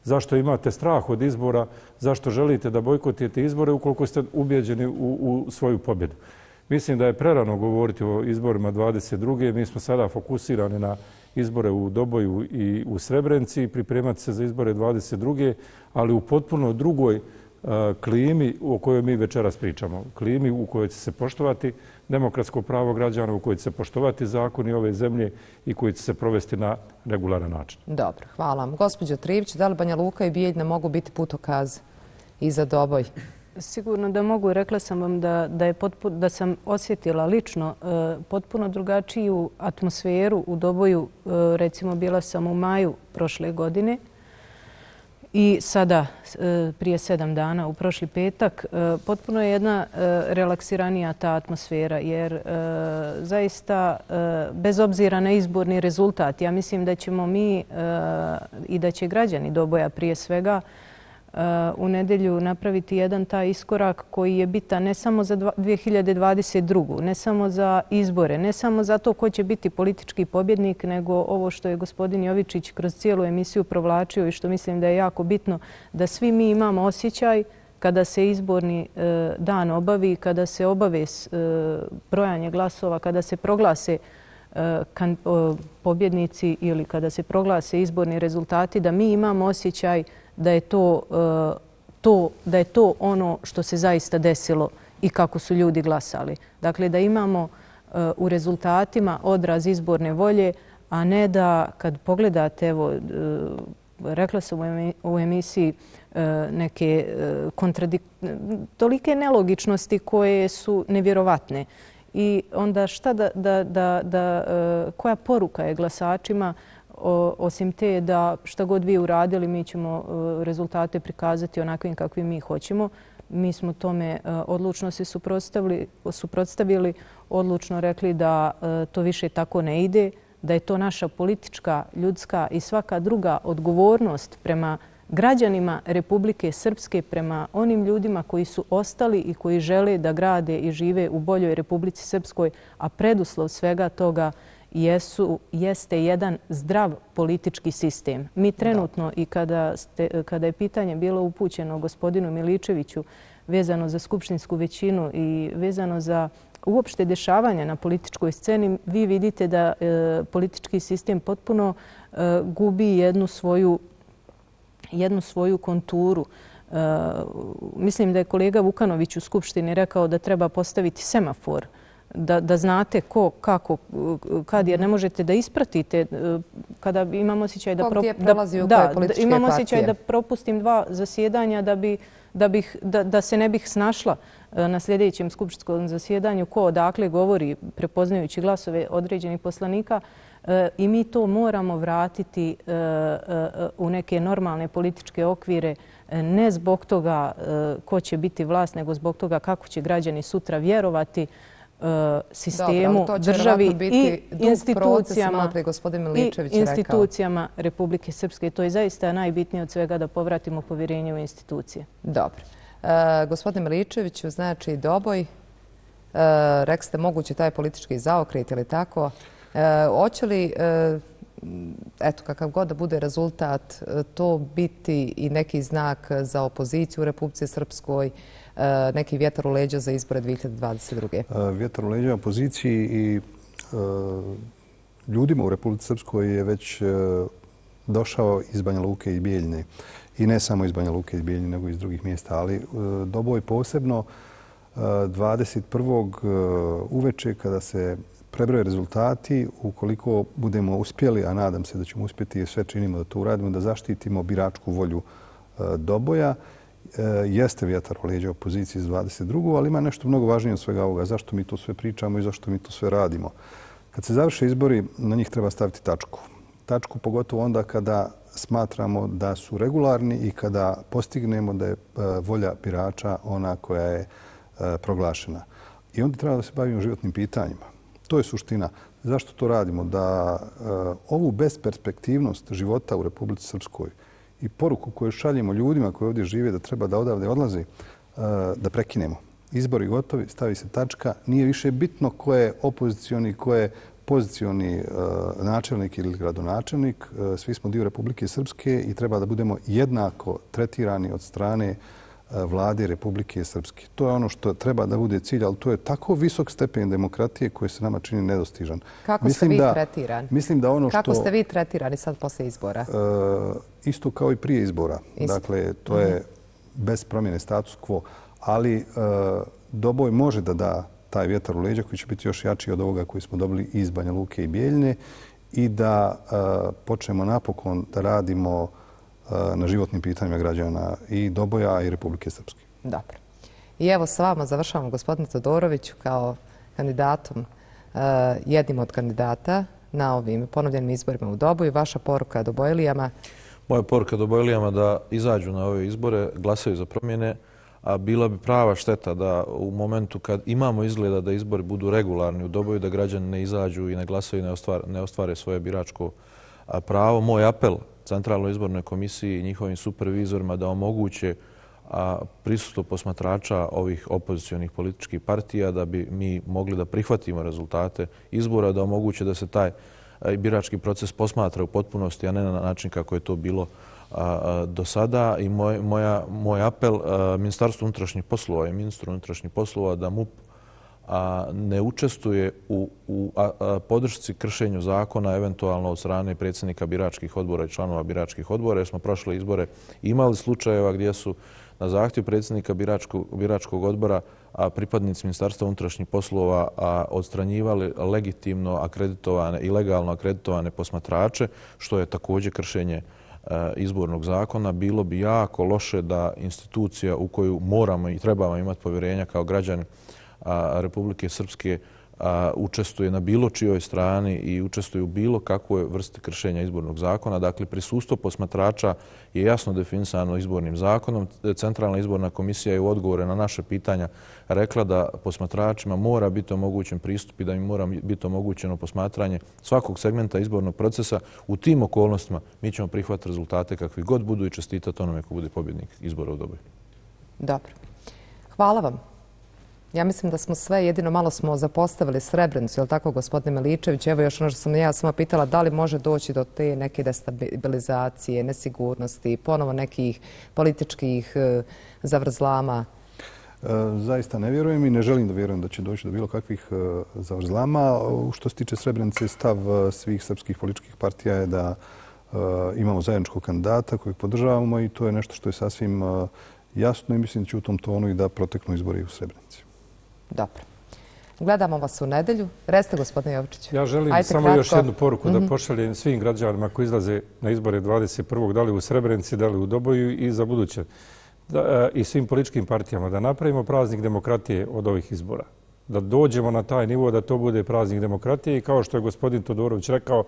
Zašto imate strah od izbora? Zašto želite da bojkotujete izbore ukoliko ste ubijeđeni u, u svoju pobjedu? Mislim da je prerano govoriti o izborima dvadeset druge Mi smo sada fokusirani na izbore u Doboju i u Srebrenici i pripremati se za izbore dvadeset druge ali u potpuno drugoj klimi o kojoj mi večeras pričamo. Klimi u kojoj će se poštovati demokratsko pravo građana, u kojoj će se poštovati zakoni ove zemlje i koji će se provesti na regularan način. Dobro, hvala vam. Gospođo Trivić, da li Banja Luka i Bijeljina mogu biti putokaz i za Doboj? Sigurno da mogu. Rekla sam vam da, da, je potpuno, da sam osjetila lično e, potpuno drugačiju atmosferu u Doboju. E, recimo, bila sam u maju prošle godine i sada, e, prije sedam dana, u prošli petak, e, potpuno je jedna e, relaksiranija ta atmosfera, jer e, zaista, e, bez obzira na izborni rezultat, ja mislim da ćemo mi e, i da će građani Doboja prije svega u nedjelju napraviti jedan taj iskorak koji je bitan ne samo za dvije hiljade dvadeset drugu ne samo za izbore, ne samo za to ko će biti politički pobjednik, nego ovo što je gospodin Jovičić kroz cijelu emisiju provlačio i što mislim da je jako bitno, da svi mi imamo osjećaj kada se izborni dan obavi, kada se obave brojanje glasova, kada se proglase pobjednici ili kada se proglase izborni rezultati, da mi imamo osjećaj da je to, to, da je to ono što se zaista desilo i kako su ljudi glasali. Dakle, da imamo u rezultatima odraz izborne volje, a ne da kad pogledate, evo, rekla sam u emisiji neke kontradik... tolike nelogičnosti koje su nevjerovatne. I onda šta da, da, da, da, koja poruka je glasačima osim te da šta god vi uradili, mi ćemo rezultate prikazati onakvim kakvim mi hoćemo. Mi smo tome odlučno se suprotstavili, odlučno rekli da to više tako ne ide, da je to naša politička, ljudska i svaka druga odgovornost prema građanima Republike Srpske, prema onim ljudima koji su ostali i koji žele da grade i žive u boljoj Republici Srpskoj, a preduslov svega toga jesu, jeste jedan zdrav politički sistem. Mi trenutno i kada, ste, kada je pitanje bilo upućeno gospodinu Miličeviću vezano za skupštinsku većinu i vezano za uopšte dešavanja na političkoj sceni, vi vidite da e, politički sistem potpuno e, gubi jednu svoju, jednu svoju konturu. E, mislim da je kolega Vukanović u Skupštini rekao da treba postaviti semafor, Da, da znate ko, kako, kad, jer ne možete da ispratite kada imamo osjećaj da, pro, da, da, da imam osjećaj da propustim dva zasjedanja da, bi, da, bih, da, da se ne bih snašla na sljedećem skupštinskom zasjedanju ko odakle govori prepoznajući glasove određenih poslanika i mi to moramo vratiti u neke normalne političke okvire, ne zbog toga ko će biti vlast, nego zbog toga kako će građani sutra vjerovati sistemu, Dobro, državi i institucijama, i institucijama Republike Srpske. To je zaista najbitnije od svega da povratimo povjerenje u institucije. Dobro. E, gospodine Miličeviću, znači Doboj, e, rekli ste moguće taj politički zaokret ili tako. E, hoće li e, eto, kakav god da bude rezultat, to biti i neki znak za opoziciju u Republici Srpskoj, neki vjetar u leđa za izbore dvije hiljade dvadeset druge. Vjetar u leđa opoziciji i ljudima u Republici Srpskoj je već došao iz Banja Luke i Bijeljine. I ne samo iz Banja Luke i Bijeljine, nego i iz drugih mjesta. Ali Doboj posebno dvadeset prvog uveče kada se prebroje rezultati, ukoliko budemo uspjeli, a nadam se da ćemo uspjeti, sve činimo da to uradimo, da zaštitimo biračku volju Doboja, jeste vjetar u leđa opoziciji iz dvadeset drugog ali ima nešto mnogo važnije od svega ovoga. Zašto mi to sve pričamo i zašto mi to sve radimo? Kad se završe izbori, na njih treba staviti tačku. Tačku pogotovo onda kada smatramo da su regularni i kada postignemo da je volja birača ona koja je proglašena. I onda treba da se bavimo životnim pitanjima. To je suština. Zašto to radimo? Da ovu besperspektivnost života u Republici Srpskoj i poruku koju šaljemo ljudima koji ovdje žive da treba da odavde odlaze, da prekinemo. Izbori gotovi, stavi se tačka. Nije više bitno ko je opozicioni, ko je pozicioni načelnik ili gradonačelnik. Svi smo dio Republike Srpske i treba da budemo jednako tretirani od strane vlade Republike Srpske. To je ono što treba da bude cilj, ali to je tako visok stepen demokratije koji se nama čini nedostižan. Kako ste vi tretirani? Mislim da ono što... Kako ste vi tretirani sad posle izbora? Isto kao i prije izbora. Dakle, to je bez promjene status quo. Ali Doboj može da da taj vjetar u leđa koji će biti još jači od ovoga koji smo dobili iz Banja Luke i Bijeljine i da počnemo napokon da radimo na životnim pitanjima građana i Doboja i Republike Srpske. Dobro. I evo s vama završavamo, gospodine Todoroviću, kao kandidatom, jednim od kandidata na ovim ponovljenim izborima u Doboju. Vaša poruka Dobojlijama? Moja poruka Dobojlijama da izađu na ove izbore, glasaju za promjene, a bila bi prava šteta da u momentu kad imamo izgleda da izbori budu regularni u Doboju, da građani ne izađu i ne glasaju i ne ostvare svoje biračko pravo. Moj apel Centralnoj izbornoj komisiji i njihovim supervizorima da omoguće prisustvo posmatrača ovih opozicionih političkih partija da bi mi mogli da prihvatimo rezultate izbora, da omoguće da se taj birački proces posmatra u potpunosti, a ne na način kako je to bilo do sada. I moj, moja, moj apel Ministarstvu unutrašnjih poslova i ministru unutrašnjih poslova da M U P ne učestvuje u, u a, a, podršci kršenju zakona, eventualno od strane predsjednika biračkih odbora i članova biračkih odbora, jer smo prošle izbore imali slučajeva gdje su na zahtjev predsjednika biračkog, biračkog odbora a pripadnici Ministarstva unutrašnjih poslova a, odstranjivali legitimno akreditovane i legalno akreditovane posmatrače, što je također kršenje a, izbornog zakona. Bilo bi jako loše da institucija u koju moramo i trebamo imati povjerenja kao građani Republike Srpske učestvuje na bilo čijoj strani i učestvuje u bilo kakvoj vrsti kršenja izbornog zakona. Dakle, prisustvo posmatrača je jasno definisano izbornim zakonom. Centralna izborna komisija je u odgovore na naše pitanja rekla da posmatračima mora biti omogućen pristup i da im mora biti omogućeno posmatranje svakog segmenta izbornog procesa. U tim okolnostima mi ćemo prihvatiti rezultate kakvi god budu i čestitati onome ko bude pobjednik izbora u Doboju. Dobro. Hvala vam. Ja mislim da smo sve, jedino malo smo zapostavili Srebrenicu, je li tako, gospodine Miličević? Evo još ono što sam ja sama pitala, da li može doći do te neke destabilizacije, nesigurnosti, ponovo nekih političkih zavrzlama? Zaista ne vjerujem i ne želim da vjerujem da će doći do bilo kakvih zavrzlama. Što se tiče Srebrenice, stav svih srpskih političkih partija je da imamo zajedničkog kandidata kojeg podržavamo i to je nešto što je sasvim jasno i mislim da će u tom tonu i da proteknu izbori u Srebrenici. Dobro. Gledamo vas u nedelju. Recite, gospodine Jovičić. Ja želim Ajde, samo kratko. još jednu poruku mm-hmm. da pošaljem svim građanima koji izlaze na izbore dvadeset prvog da li u Srebrenici, da li u Doboju i za buduće. Da, i svim političkim partijama da napravimo praznik demokratije od ovih izbora. Da dođemo na taj nivo da to bude praznik demokratije i kao što je gospodin Todorović rekao,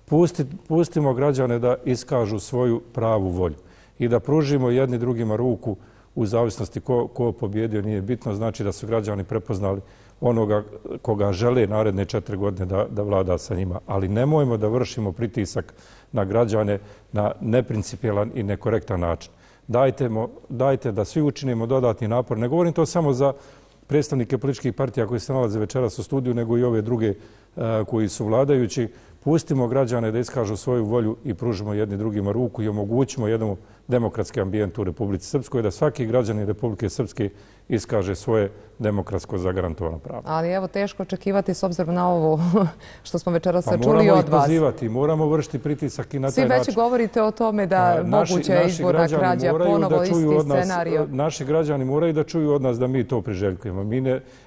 pusti, pustimo građane da iskažu svoju pravu volju i da pružimo jedni drugima ruku u zavisnosti ko, ko pobjedio, nije bitno. Znači da su građani prepoznali onoga koga žele naredne četiri godine da, da vlada sa njima. Ali nemojmo da vršimo pritisak na građane na neprincipijelan i nekorektan način. Dajte, mo, dajte da svi učinimo dodatni napor. Ne govorim to samo za predstavnike političkih partija koji se nalaze večeras u studiju, nego i ove druge koji su vladajući. Pustimo građane da iskažu svoju volju i pružimo jedni drugima ruku i omogućimo jednom demokratski ambijent u Republici Srpskoj, da svaki građanin Republike Srpske iskaže svoje demokratsko zagarantovano pravo. Ali evo, teško očekivati s obzirom na ovo što smo večeras čuli od vas. Moramo ih pozivati, moramo vršiti pritisak i na taj način. Svi već govorite o tome da moguće izborna krađa, ponovo isti scenario. Naši građani moraju da čuju od nas da mi to priželjkujemo.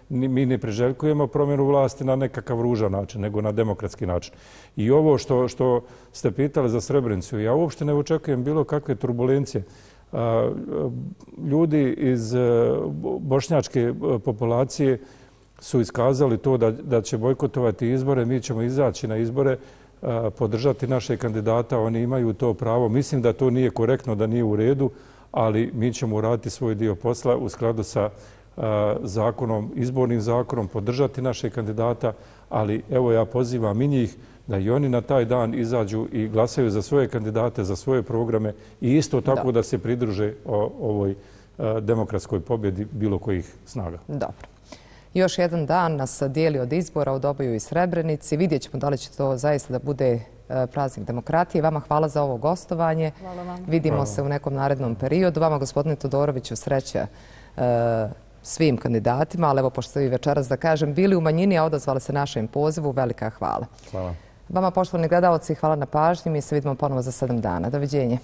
Mi ne priželjkujemo promjenu vlasti na nekakav ružan način, nego na demokratski način. I ovo što ste pitali za Srebrenicu, ja uopšte ne očekujem bilo kakve turbulencije. Ljudi iz bošnjačke populacije su iskazali to da će bojkotovati izbore. Mi ćemo izaći na izbore, podržati naše kandidata. Oni imaju to pravo. Mislim da to nije korektno, da nije u redu, ali mi ćemo uraditi svoj dio posla u skladu sa zakonom, izbornim zakonom, podržati naše kandidata, ali evo ja pozivam i njih da i oni na taj dan izađu i glasaju za svoje kandidate, za svoje programe i isto tako da se pridruže ovoj demokratskoj pobjedi bilo kojih snaga. Dobro. Još jedan dan nas dijeli od izbora u Doboju i Srebrenici. Vidjet ćemo da li će to zaista da bude praznik demokratije. Vama hvala za ovo gostovanje. Hvala vam. Vidimo se u nekom narednom periodu. Vama, gospodine Todoroviću, sreća svim kandidatima, ali evo, pošto ste vi večeras, da kažem, bili u manjini, a odazvali se našem pozivu, velika hvala. Hvala. Vama, poštovani gledalci, hvala na pažnji. Mi se vidimo ponovo za sedam dana. Doviđenje.